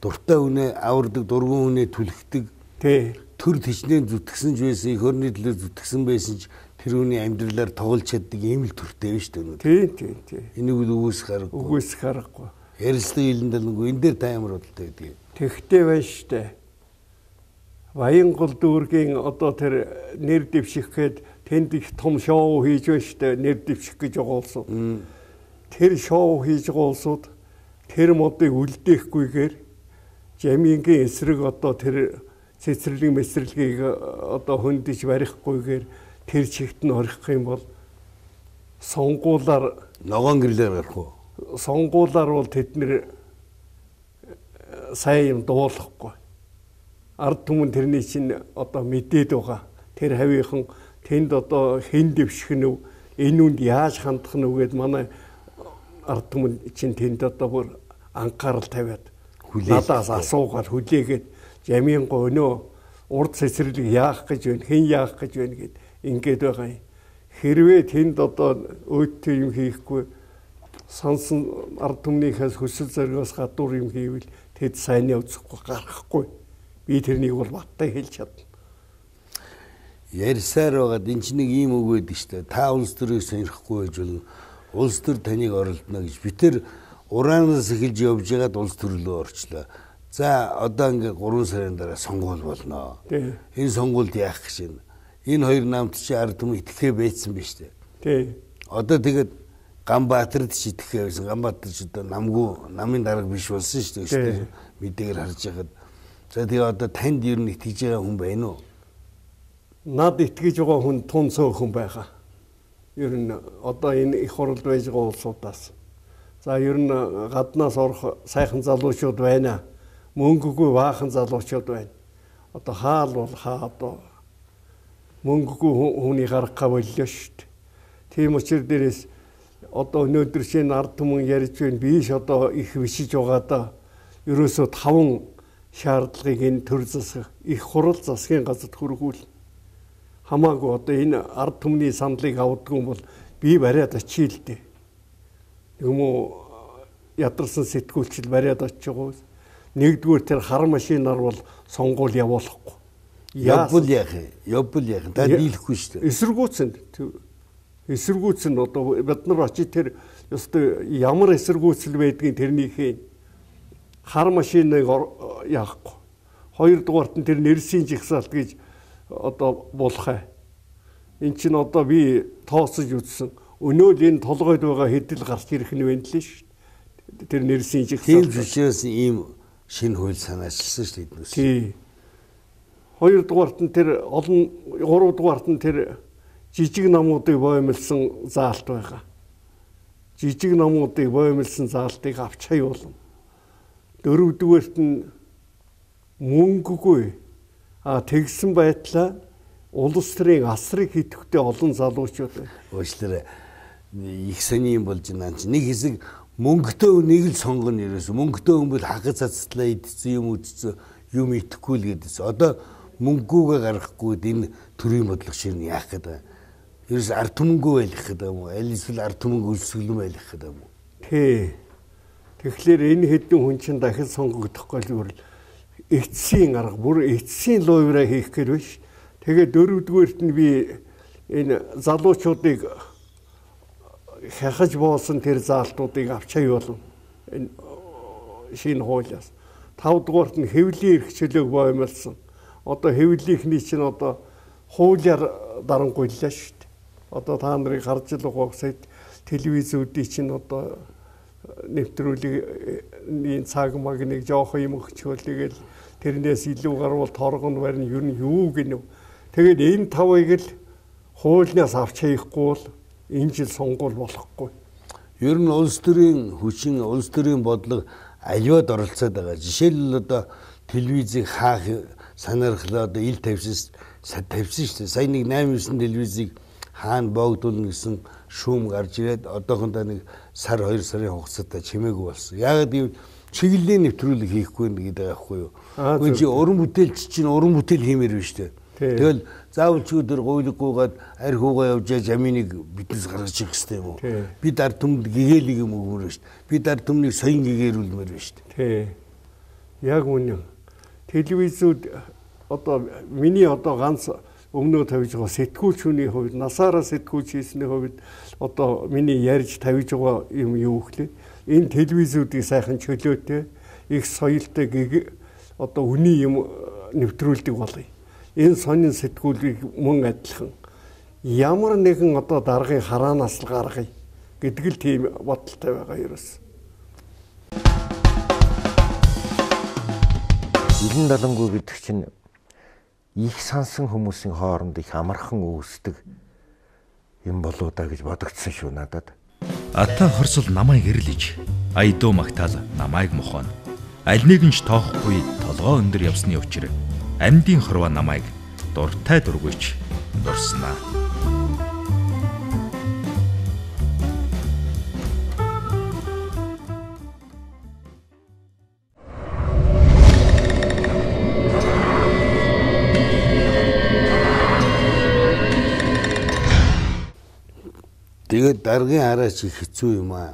дуртай үнэ авардаг дургуун үнэ түлхдэг. Тий. Төр тичнээ зүтгэсэн ч байсан их орны төлөө зүтгэсэн байсан ч тэр хүний амьдралаар тоглож чаддаг ийм л төртэй биш үү? Тий, тий, тий. Энийг үгүйсэх аргагүй. Үгүйсэх аргагүй. Ярилцлага хилэндэлгүй энэ дээр та ямар бодолтой гэдэг. Тэгхтэй байна штэ. Баянгол дүүргийн одоо тэр нэр дэвших гээд тэнд их том шоу хийж байна штэ, нэр дэвших гэж байгаа улсууд. Тэр шоу хийж байгаа улсууд тэр модыг үлдээхгүйгээр Жамингийн эсрэг одоо тэр цэцэрлэг мэсрэлгийг одоо хөндөж барихгүйгээр тэр чигт нь орох юм бол сонгуулаар ногоон гэрлээр гарах уу? Сонгуулаар бол тэд нэр сайн юм дуулахгүй. Ард түмэн тэрний чинь одоо мэдээд байгаа. Тэр хавийнхан тэнд одоо хэн дэвших нь вэ? Энэ үнд яаж хандах нь вэ гэд манай ард түмэн чинь тэнд одоо бүр анхаарал тавиад надаас асуугаад хүлээгээд Жаминго өнөө урд цэцэрлэг яах гэж байна, хэн яах гэж байна гэд ингээд байгаа юм. Хэрвээ тэнд одоо өөдтэй юм хийхгүй сонсон ард түмнийхээс хүсэл зоригоос гадуур юм хийвэл тэд сайн явцахгүй гарахгүй. Би тэрнийг бол баттай хэлж чадна. Ярьсаар байгаад энэ чинь нэг ийм үг байдаг шүү дээ. Та улс төрийг сонирхгүй байж болно. Улс төр таныг оролдоно гэж. Би тэр ураанаас эхэлж явж байгаад улс төр рүү орчлоо. За одоо ингээ гурван сарын дараа сонгуул болно. Энэ сонгуульд яах гэж байна? Энэ хоёр намт чи ард түмэн итгэхээ байцсан биз дээ. Тий. Одоо тэгээд Ганбаатарт чи итгэхээ байсан. Ганбаатар ч одоо намгүй намын дарга биш болсон шүү дээ. Мэдээгээр харж байгаад. За тэгээ одоо танд ер нь итгэж байгаа хүн байна уу? Над итгэж байгаа хүн тун цөөхөн байгаа. Ер нь одоо энэ их хурлд байж байгаа улсуудаас. За ер нь гаднаас орох сайхан залуучууд байна. Мөнгөгүй баахан залуучууд байна. Одоо хаал бол хаа одоо мөнгөгүй хүний гаргахаа боллоо шүү дээ. Тийм учраас дээрээс одоо өнөөдөр шинэ ард түмэн ярьж байна. Биш одоо их бишиж байгаа да. Ерөөсөө таван шаардлагыг энэ төр засах их хурал засгийн газарт хүргүүл. Хамаагүй одоо энэ ард түмний саналыг авдаггүй бол би бариад очие л дээ. Юм уу ядарсан сэтгүүлчил бариад очиж байгаа. Нэгдүгээр тэр хар машинаар бол сонгуул явуулахгүй. Явбал яах юм? Явбал яах юм? Та дийлэхгүй шүү дээ. Эсэргүүцэн. Эсэргүүцэн одоо бид нар очиж тэр ёстой ямар эсэргүүцэл байдгийг тэрнийхээ хар машиныг яахгүй. Хоёрдугаарт нь тэр нэрсийн жигсаалт гэж одоо болох. Эн чинь одоо би тооцож үзсэн. Өнөө л энэ толгойд байгаа хэдэл гарч ирэх нь байна лээ шүү. Тэр нэрсийн жигсаалт. Тийм учраас ийм шинэ хууль санаачилсан шүү дээ. Тий. Хоёрдугаарт нь тэр олон гуравдугаарт нь тэр жижиг намуудыг боомлсон заалт байгаа. Жижиг намуудыг боомлсон заалтыг авч хаяулна. Дөрөвдүгээрт нь мөнгөгүй а тэгсэн байтлаа улс төрийн асрыг хийхдээ олон залуучууд байна. Уучлаарай. Их сони юм болж байна. Нэг хэсэг мөнгөтэй үнийг л сонгоно ерөөсө. Мөнгөтэй хүн бол хагас цацлаа идсэн юм үдсэн юм итгэхгүй л гэдээс. Одоо мөнгөгүйгээ гаргахгүй энэ төрийн бодлого ширнэ яах гэдэг. Ерөөс ард түмэнгүй байлгах гэдэг юм уу? Аль эсвэл ард түмэнг өлсгөлөн байлгах гэдэг юм уу? Тий. Тэгэхээр энэ хэдэн хүн чинь дахин сонгогдохгүй л эцсийн арга бүр эцсийн луйвраа хийх гэж биш. Тэгээд дөрөвдүгээрт нь би энэ залуучуудыг хахаж боосон тэр заалтуудыг авч хаяулна. Энэ шинэ хуулиас. Тавдугаарт нь хэвлийн эрх чөлөөг боомлсон. Одоо хэвлийнхний чинь одоо хуулиар дарангуйллаа шүү дээ. Одоо та нарыг харж л байгаа сайд телевизүүдийн чинь одоо нэвтрүүлгийн цаг магныг жоох юм өгчөөл тэгэл тэрнээс илүү гарвал торгон барин ер нь юу гинэ. Тэгээд энэ тавыг л хуулиас авч хаяхгүй бол энэ жил сонгуул болохгүй. Ер нь улс төрийн хүчин, улс төрийн бодлого аливаад оролцоод байгаа. Жишээлбэл одоо телевизийг хаах санаархлаа одоо ил тавьсан тавьсан шүү дээ. Сая нэг найман девять телевизийг хаана боогдуулна гэсэн шүүм гарч ирээд одоохондоо нэг сар хоёр сарын хугацаатай чимээгүй болсон. Яагаад гэвэл чиглэлийн нэвтрүүлэг хийхгүй гэдэг байхгүй юу? Үгүй чи уран бүтээлч чинь уран бүтээл хиймээр байна шүү дээ. Тэгэл заавал ч өдөр гуйлггүйгээд арх уугаа явж жаминыг биднес гаргаж ирэх хэрэгтэй юм уу? Бид ард түмэнд гэгээлэг юм өгмөр шүү дээ. Бид ард түмнийг соён гэгээрүүлмээр байна шүү дээ. Тий. Яг үнэн. Телевизүүд одоо миний одоо ганц өмнөө тавьж байгаа сэтгүүлч хүний хувьд насаараа сэтгүүлч хийсний хувьд одоо миний ярьж тавьж байгаа юм юу гэхлээр энэ телевизүүдийг сайхан чөлөөтэй их соёлтой гэг одоо үний юм нэвтрүүлдэг болъё. Энэ сонин сэтгүүлийг мөн адилхан ямар нэгэн одоо даргын хараанаас л гаргая гэдэг л тийм бодолтой байгаа ерөөс. Илэн далангуй гэдэг чинь их сансан хүмүүсийн хооронд их амархан үүсдэг юм болоо да гэж бодогдсон шүү надад. Ата хорсол намайг гэрлэж, айдуу магтаал намайг мохоно. Аль нэгэнч тоохгүй толгоо өндөр явсны учир амьдын хорва намайг дуртай дургүйч дурснаа. Тэгээд даргын хараач их хэцүү юм аа.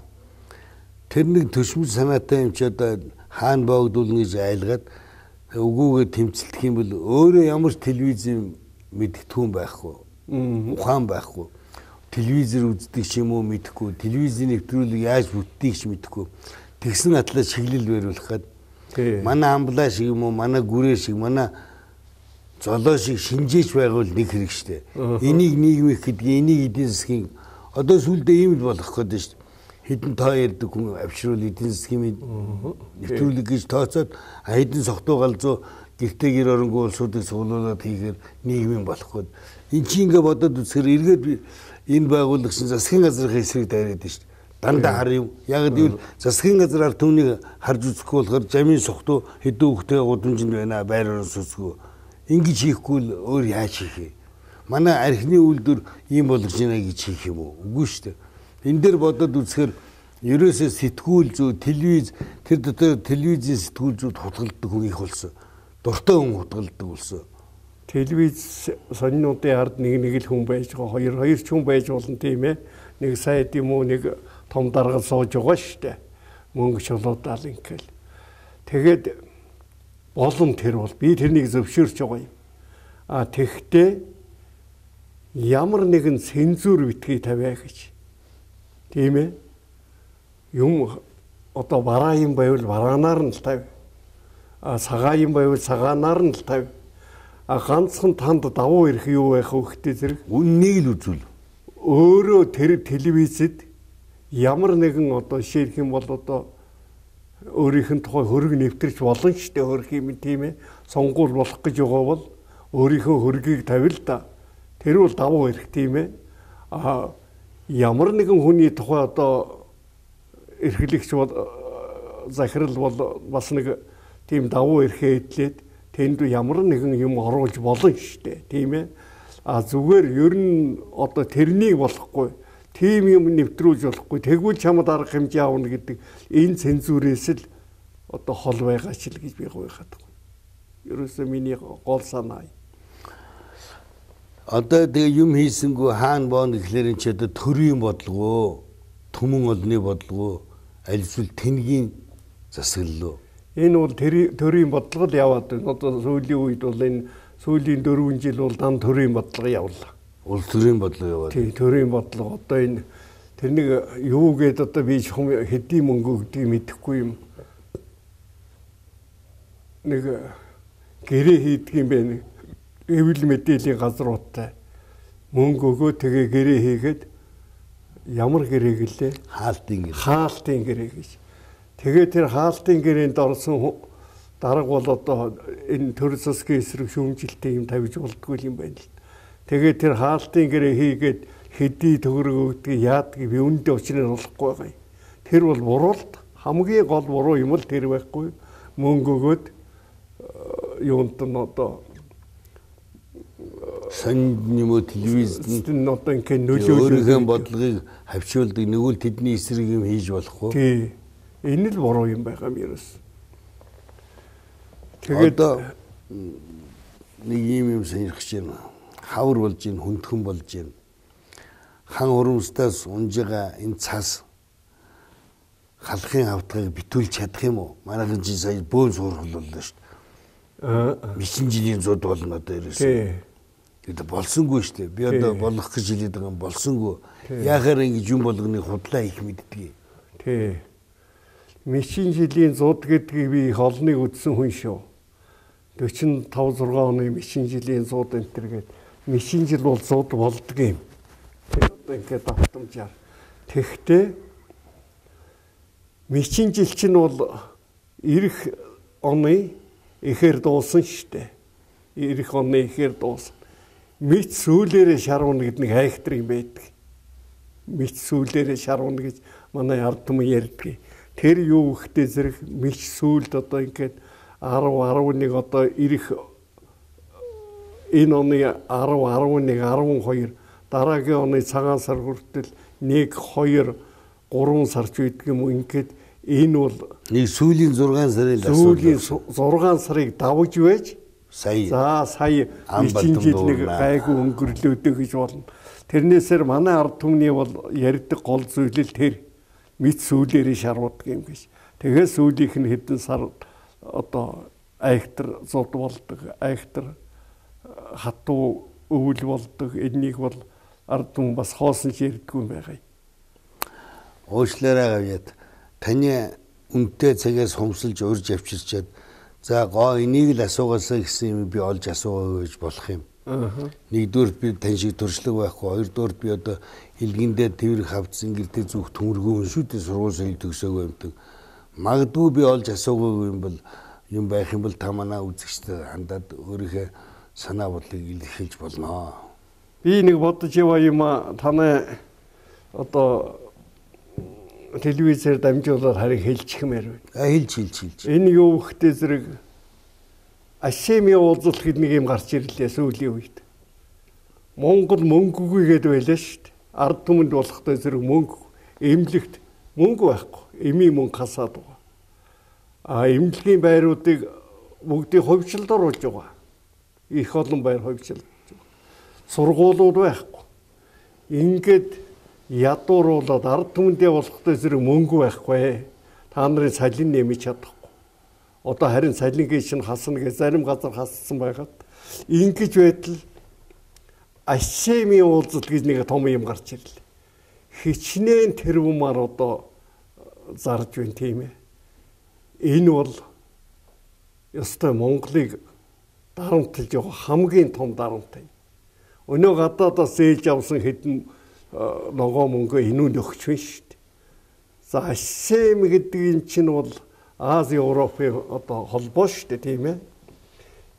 Тэр нэг төшмөл санаатай юм ч одоо хаана боогдуулна гэж айлгаад өгөөгээ тэмцэлдэх юм бол өөрөө ямар ч телевизэн мэдтгүүн байхгүй. Ухаан байхгүй. Телевизээр үздэг ч юм уу мэдэхгүй. Телевизийн нэвтрүүлэг яаж бүтдгийг ч мэдэхгүй. Тэгсэн атлаа шиглэл бариулахад манай амблаа шиг юм уу, манай гүрээ шиг, манай золоо шиг шинжээч байгуул нэг хэрэг штэ. Энийг нийгмих гэдэг, энийг эдийн засгийн одоо сүлдээ ийм л болох гэдэг шүү дээ. Хэдэн тоо ярьдаг хүн авшруул эдийн засгийн нэвтрүүлэг гэж тооцоод хэдэн согтуу галзуу гэртээ гэр оронгуй улсуудыг суулуулад хийхээр нийгмийн болох гээд. Энд чи ингээ бодоод үзэхээр эргээд энэ байгууллага шин засгийн газрын эсрэг дайраад шүү дээ. Дандаа хар юм. Яг гэвэл засгийн газраар түүнийг харж үзэхгүй болохоор жамын согтуу хэдэн хүүхдээ гудамжинд байна байр орон сүсгүй. Ингэж хийхгүй л өөр яаж хийх вэ? Манай архины үйлдвэр ийм болгож байна гэж хийх юм уу? Үгүй шүү дээ. Энэ дээр бодоод үзэхээр ерөөсөө сэтгүүл зүй, телевиз тэр дотор телевизийн сэтгүүл зүйд хутгалдаг хүн их болсон. Дуртай хүн хутгалдаг болсон. Телевиз сонинуудын ард нэг нэг л хүн байж байгаа. Хоёр хоёр ч хүн байж болно тийм ээ. Нэг сайд юм уу, нэг том даргал сууж байгаа шүү дээ. Мөнгө чулуудаал ингээл. Тэгээд болон тэр бол би тэрнийг зөвшөөрч байгаа юм. А тэгтээ ямар нэгэн цензур битгий тавиа гэж. Тийм ээ. Юм одоо бараа юм байвал бараанаар нь л тавь. А цагаа юм байвал цагаанаар нь л тавь. А ганцхан танд давуу ирэх юу байх вэ гэхдээ зэрэг үннийг л үзүүл. Өөрөө тэр телевизэд ямар нэгэн одоо ширх юм бол одоо өөрийнх нь тухай хөрөг нэвтэрч болно ч тэ хөрөх юм тийм ээ. Сонгуул болох гэж байгаа бол өөрийнхөө хөргийг тавил да. Тэр бол давуу ирэх тийм ээ. А ямар нэгэн хүний тухай одоо эрхлэгч бол захирал бол бас нэг тийм давуу эрхээ эдлээд тэнд ямар нэгэн юм оруулж болно шүү дээ тийм ээ. А зүгээр ер нь одоо тэрнийг болохгүй тийм юм нэвтрүүлж болохгүй тэгвэл чамд арга хэмжээ авна гэдэг энэ цензурээс л одоо хол байгаа ч л гэж би гойхаад байна. Ерөөсөө миний гол санаа. Одоо тэгээ юм хийсэнгүү хаана боон гэхлээр энэ ч одоо төрийн бодлого, түмэн олны бодлого, аль эсвэл тэнгийн засаглал. Энэ бол төрийн бодлого л яваад байна. Одоо сүүлийн үед бол энэ сүүлийн дөрвөн жил бол дан төрийн бодлого явлаа. Улс төрийн бодлого яваад. Тийм төрийн бодлого одоо энэ тэр нэг юу гээд одоо би хэдийн мөнгө өгдгийг мэдэхгүй юм. Нэг гэрээ хийдэг юм байна. Эвэл мэдээллийн газруудтай мөнгө өгөө тэгээ гэрээ хийгээд ямар гэрээг лээ? Хаалтын гэрээ. Хаалтын гэрээ гэж. Тэгээ тэр хаалтын гэрээнд орсон дарга бол одоо энэ төр засгийн эсрэг шүүмжилтийн юм тавьж болдгүй юм байна л. Тэгээ тэр хаалтын гэрээ хийгээд хэдий төгрөг өгдөг яадгийг би үүндээ учрыг болохгүй байгаа юм. Тэр бол буруу. Хамгийн гол буруу юм л тэр байхгүй. Мөнгө өгөөд юунд нь одоо сонд юм уу телевизэд нь одоо ингэ нөлөөлөх өөрийнхөө бодлогыг хавчуулдаг нэгвэл тэдний эсрэг юм хийж болохгүй. Тий. Энэ л буруу юм байгаа юм ерөөс. Тэгээд одоо нэг юм юм сонирхож байна. Хавар болж байна, хүндхэн болж байна. Хан урамстаас унжгаа энэ цас халахын хавтгыг битүүлж чадах юм уу? Манайхан чи сая бөөн суурхал боллоо шүү дээ. Аа мэдсэн жилийн зууд болно одоо ерөөс. Тий. Тэгээд болсонгүй шүү дээ. Би одоо болох гэж хэлээд байгаа юм болсонгүй. Яахаар ингэж юм болгоныг худлаа их мэддэг. Тий. Мичийн жилийн зууд гэдгийг би их олныг үзсэн хүн шүү. дөрвөн таван зургаан оны мичийн жилийн зууд энэ төр гээд мичийн жил бол зууд болдго юм. Тэгээд ингээд автомжаар. Тэгтээ мичийн жил чинь бол ирэх оны ихээр дуусан штэ. Ирэх оны ихээр дуусан. Мэд сүүлээрээ шарвна гэдэг нэг хайхтар юм байдаг. Мэд сүүлээрээ шарвна гэж манай ард түмэн ярьдаг. Тэр юу ихтэй зэрэг мэд сүүлд одоо ингээд арав арав нэг одоо ирэх энэ оны арав арав нэг арван хоёр дараагийн оны цагаан сар хүртэл нэг хоёр гурван сарч үйдэг юм ингээд энэ бол нэг сүүлийн зургаан сарын сүүлийн зургаан сарыг давж байж сая за сая мичийн жил нэг гайгүй өнгөрлөөдөө гэж болно. Тэрнээсээр манай ард түмний бол ярьдаг гол зүйл л тэр мэд сүүлээрээ шарвдаг юм гэж. Тэгээд сүүлийнх нь хэдэн сар одоо айхтар зод болдог, айхтар хатуу өвөл болдог. Энийг бол ард түмэн бас хоосон ч ярьдгүй юм байгаа. Уушлаараа гавьяд таны үнэтэй цагаас хумсалж урьж авчирчаад за гоо энийг л асуугаасаа гэсэн юм би олж асуугаа гэж болох юм. Нэгдүгээр би тань шиг төршлөг байхгүй, хоёрдугаар би одоо хэлгэндээ тэрэг хавцсан гэртээ зүг төмөргөө шүтээ сургууль соёл төгсөөгөө юмдаг. Магадгүй би олж асуугаагүй юм бол юм байх юм бол та манай үзэгчтэй хандаад өөрийнхөө санаа бодлыг илэрхийлж болно. Би нэг бодож яваа юм а танай одоо телевизээр дамжуулаад харин хэлчихмээр байна. А хэлж хэлж хэлж. Энэ юу ихтэй зэрэг Ашеми уулзалт гэдэг нэг юм гарч ирлээ сүүлийн үед. Монгол мөнгөгүй гэдэг байлаа шүү дээ. Ард түмэнд болохтой зэрэг мөнгө эмнэлэгт мөнгө байхгүй. Эми мөнгө хасаад байгаа. А эмнэлгийн байруудыг бүгдийг хувьчилд оруулж байгаа. Их олон байр хувьчилж байгаа. Сургуулиуд байхгүй. Ингээд ядууруулаад ард түмэндээ болохтой зэрэг мөнгө байхгүй. Та нарын салин нэмэж чадахгүй. Одоо харин салингийн чинь хасна гэж зарим газар хассан байгаад ингэж байтал Ашеми уулзалт гэж нэг том юм гарч ирлээ. Хичнээн тэрвмаар одоо зарж байна тийм ээ. Энэ бол ёстой Монголыг дарамтлж явах хамгийн том дарамт юм. Өнөө гадаадаас ээлж авсан хэдэн ногоо мөнгө энүүнд өгч байна шүү дээ. За Ашеми гэдэг энэ чинь бол Ази Европын одоо холбоо шүү дээ тийм ээ.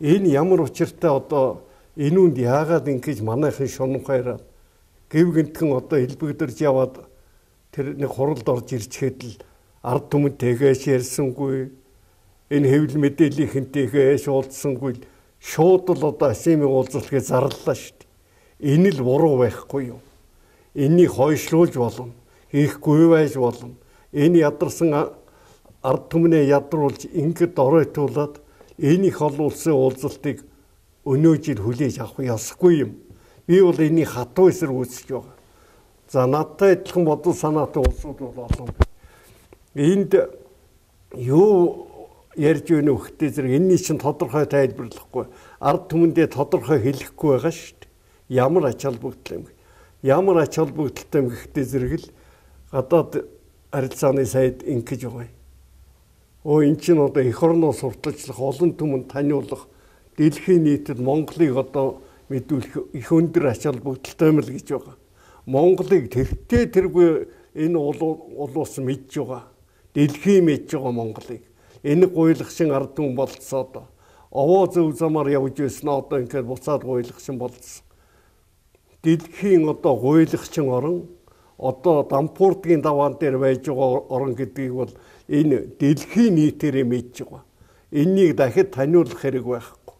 Энэ ямар учиртай одоо энүүнд яагаад ингэж манайхан шунхайраад гів гинтгэн одоо хэлбэгдэрж яваад тэр нэг хуралд орж ирчихэд л ард түмэнтэйгээ ярьсангүй энэ хэвлэл мэдээллийнхэнтэйгээ шуулдсангүй шууд л одоо Ашеми уулзалтыг зарлалаа шүү дээ. Энэ л буруу байхгүй юу? Энийг хойшлуулж болно. Хийхгүй байж болно. Энэ ядарсан ард түмнээ ядруулж ингээд оройтуулаад энийг олон улсын уулзалтыг өнөө жил хүлээж авах ёсгүй юм. Би бол энийг хатуу эсрэг үзэж байгаа. За надтай адилхан бодол санаатай улсууд бол олон. Энд юу ярьж өгнө өгөхтэй зэрэг энэний чинь тодорхой тайлбарлахгүй. Ард түмэндээ тодорхой хэлэхгүй байгаа шүү дээ. Ямар ач холбогдол юм. Ямар ач холбогдолтой юм гэхтэй зэрэг л гадаад харилцааны сайд ингэж байгаа юм. Оо эн чинь одоо эх орноо сурталчлах олон түмэнд таниулах дэлхийн нийтэд Монголыг одоо мэдүүлэх их өндөр ач холбогдолтой юм л гэж байгаа. Монголыг тэртээ тэргүй энэ улуус мэдж байгаа. Дэлхийн мэдж байгаа Монголыг. Энэ гуйлагчин ард түмэн болцоод овоо зөв замаар явж байсан одоо ингээд буцаад гуйлагчин болцсон. Дэлхийн одоо гуйлагчин орон одоо Дампуурдгийн даваан дээр байж байгаа орон гэдгийг бол энэ дэлхийн нийтээр мэдж байгаа. Энийг дахид таниулах хэрэг байхгүй.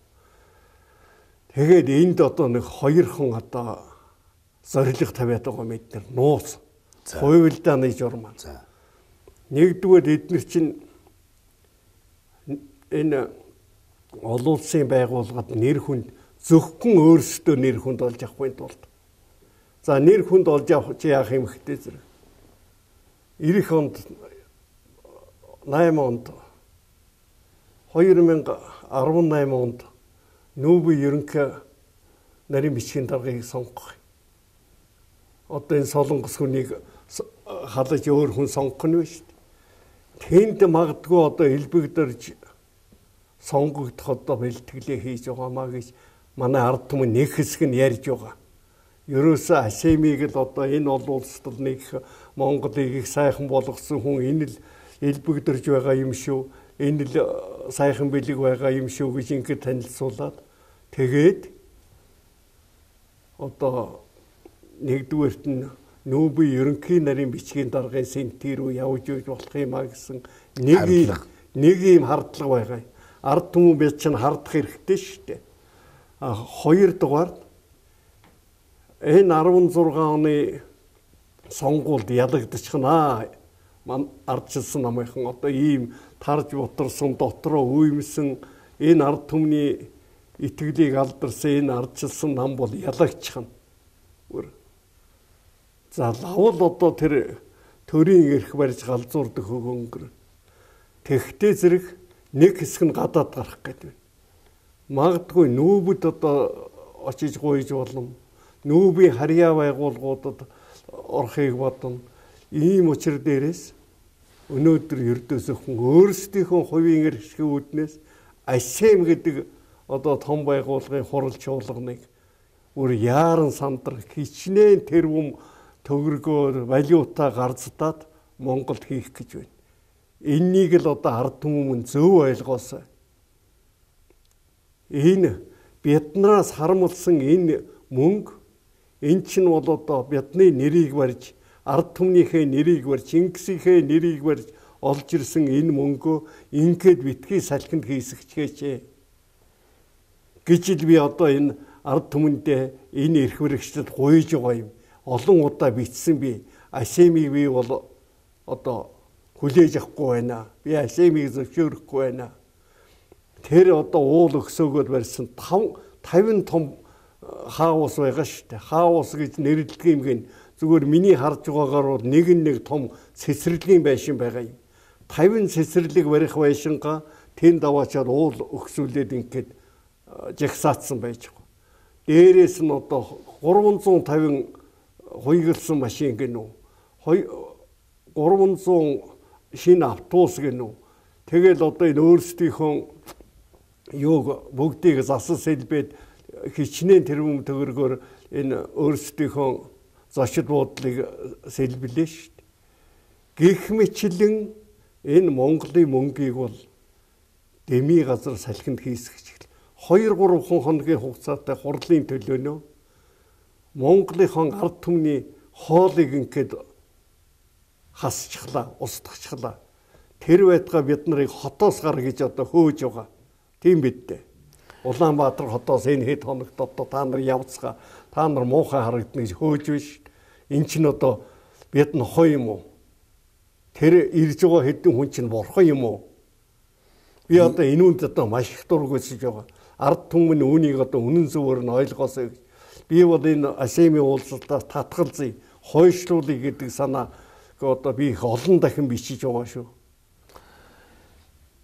Тэгээд энд одоо нэг хоёрхан одоо зориг тавиад байгаа мэд нар нууц. Хувилдааны журмаа. Нэгдүгээр эдгээр чинь энэ олон улсын байгууллагад нэр хүнд зөвхөн өөрсдөө нэр хүнд олж авахгүй тулд. За нэр хүнд олж авах чи яах юм хтэй зэрэг. Ирэх онд найман онд хоёр мянга арван найман онд нүүбий ерөнхий нарийн бичгийн даргаыг сонгох. Одоо энэ солонгос хүнийг халаж өөр хүн сонгох нь шүү дээ. тэнд магадгүй одоо элбэгдэрж сонгогдох одоо бэлтгэлээ хийж байгаамаа гэж манай ард түмэн нэг хэсэг нь ярьж байгаа. Ерөөсөө Асемиг л одоо энэ олон улсад нэг Монголыг их сайхан болгосон хүн энэ л элбэгдэрж байгаа юм шүү. Энэ л сайхан бэлэг байгаа юм шүү гэж ингээд танилцуулаад тэгээд одоо нэгдүгээрт нь нүүбий ерөнхий нарийн бичгийн даргын сентир рүү явж үйж болох юм а гэсэн нэг юм нэг юм хардлага байгаа. Ард түмэн бид чинь хардах хэрэгтэй шүү дээ. А хоёрдугаар энэ арван зургаан оны сонгуульд ялагдчихнаа. Ман ардчилсан намынхан одоо ийм тарж бутарсан дотроо үймсэн энэ ард түмний итгэлийг алдарсан энэ ардчилсан нам бол ялагчхан. За лавл одоо тэр төрийн эрх барьж галзуурдаг хөгөнгөр. Тэгхтээ зэрэг нэг хэсэг нь гадаад гарах гэдэг. Магадгүй нүүбэд одоо очиж гуйж болно. Нүүбийн харьяа байгууллагуудад орохыг бодно. Ийм учир дээрээс өнөөдөр ердөөсөө хүн өөрсдийнхөө хувийн эрхшгийн үүднээс Асем гэдэг одоо том байгууллагын хурал чуулганыг өөр яаран сандрах хичнээн тэрвэм төгрөгөөр валюта гарцдаад Монголд хийх гэж байна. Энийг л одоо ард түмэн зөв ойлгоосоо. Энэ биднээс харамлсан энэ мөнгө эн чинь бол одоо бидний нэрийг барьж ард түмнийхээ нэрийг барьж Чингисийнхээ нэрийг барьж олж ирсэн энэ мөнгөө ингээд битгий салхинд хийсгчгээч гэж л би одоо энэ ард түмэндээ энэ эрх баригчдад гуйж байгаа юм. Олон удаа бичсэн би Асемиг би бол одоо хүлээж авахгүй байна. Би Асемиг зөвшөөрөхгүй байна. Тэр одоо уул өксөөгөөр барьсан тавин том хаус байгаа шүү дээ. Хаус гэж нэрлэдэг юм гин зүгээр миний харж байгаагаар бол нэг нэг том цэцэрлэгийн байшин байгаа юм. тавин цэцэрлэг барих байшингаа тэнд аваачаад уул өксүүлээд ингээд жагсаацсан байж байгаа. Дээрээс нь одоо гурван зуун тавин хуйгалсан машин гэнэ үү. гурван зуун шинэ автобус гэнэ үү. Тэгэл одоо энэ өөрсдийнхөө юуг бүгдийг засал сэлбэд хичнээн тэрвэм төгрөгөөр энэ өөрсдийнхөө зочид буудлыг сэлбэлээ шүү дээ. Гэх мэтлэн энэ Монголын мөнгийг бол дэми газар салхинд хийсгэж хоёр гурван хоногийн хугацаатай хурлын төлөөнөө Монголын ард түмний хоолыг ингээд хасчихлаа, устгахчлаа. Тэр байтугай бид нарыг хотоос гар гэж одоо хөөж байгаа. Тийм бид дээ. Улаанбаатар хотоос энэ хэд хоногт одоо та нар явцгаа, та нар муухай харагдана гэж хөөж биш. Эн чинь одоо бид нь хой юм уу? Тэр ирж байгаа хэдэн хүн чинь борхон юм уу? Би одоо энэ үнд одоо маш их дургүйсэж байгаа. Ард түмэн үүнийг одоо үнэн зөвөр нь ойлгоосоо гэж. Би бол энэ Асемийн уулзалтаас татгалзъя, хойшлуулъя гэдэг санаа одоо би их олон дахин бичиж байгаа шүү.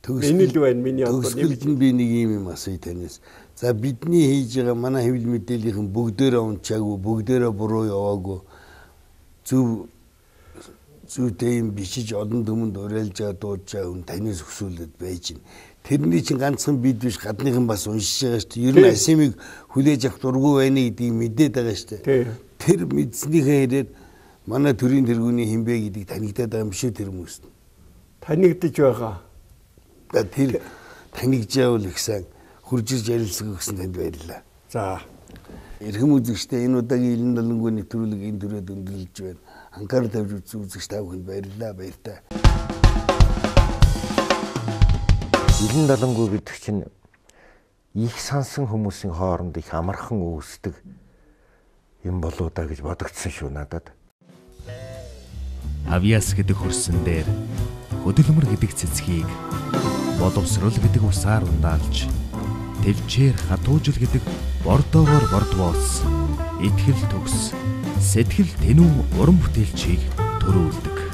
Энэ л байна миний одоо нэмж би нэг юм юм асууя танаас. За бидний хийж байгаа манай хэвлэл мэдээллийн бүгдээрээ унчаагүй, бүгдээрээ буруу яваагүй. Зөв зүйтэй юм бичиж олон түмэнд уриалж байгаа дуудаж байгаа хүн танаас өсвөлөд байж гин. Тэрний чинь ганцхан бид биш гадныхан бас уншиж байгаа шүү дээ. Ер нь Асемиг хүлээж авах дургүй байна гэдгийг мэдээд байгаа шүү дээ. Тэр мэдснийхээ хэрээр манай төрийн тэргүүний хинбэ гэдгийг танигдаад байгаа юм шүү тэр хүмүүст. Танигдж байгаа. Тэр танигжаавал их сайн хуржиж ярилцах гэсэн танд баярлалаа. За. Эрхэм үзэгчдээ энэ удаагийн Илэн Далангуй нэвтрүүлэг энэ төрөд өндөрлөж байна. Анхаарал тавьж үзсэн үзэгч та бүхэнд баярлалаа, баяртай. Илэн Далангуй гэдэг чинь их сансан хүмүүсийн хооронд их амархан үүсдэг юм болоо да гэж бодогдсон шүү надад. Авьяас гэдэг хөрсөн дээр хөдөлмөр гэдэг цэцгийг, боловсрол гэдэг усаар ундаалж, төвчээр хатуужил гэдэг бордоогоор бордвоос, итгэл төгс, сэтгэл тэнүү уран бүтээлчийг төрүүлдэг.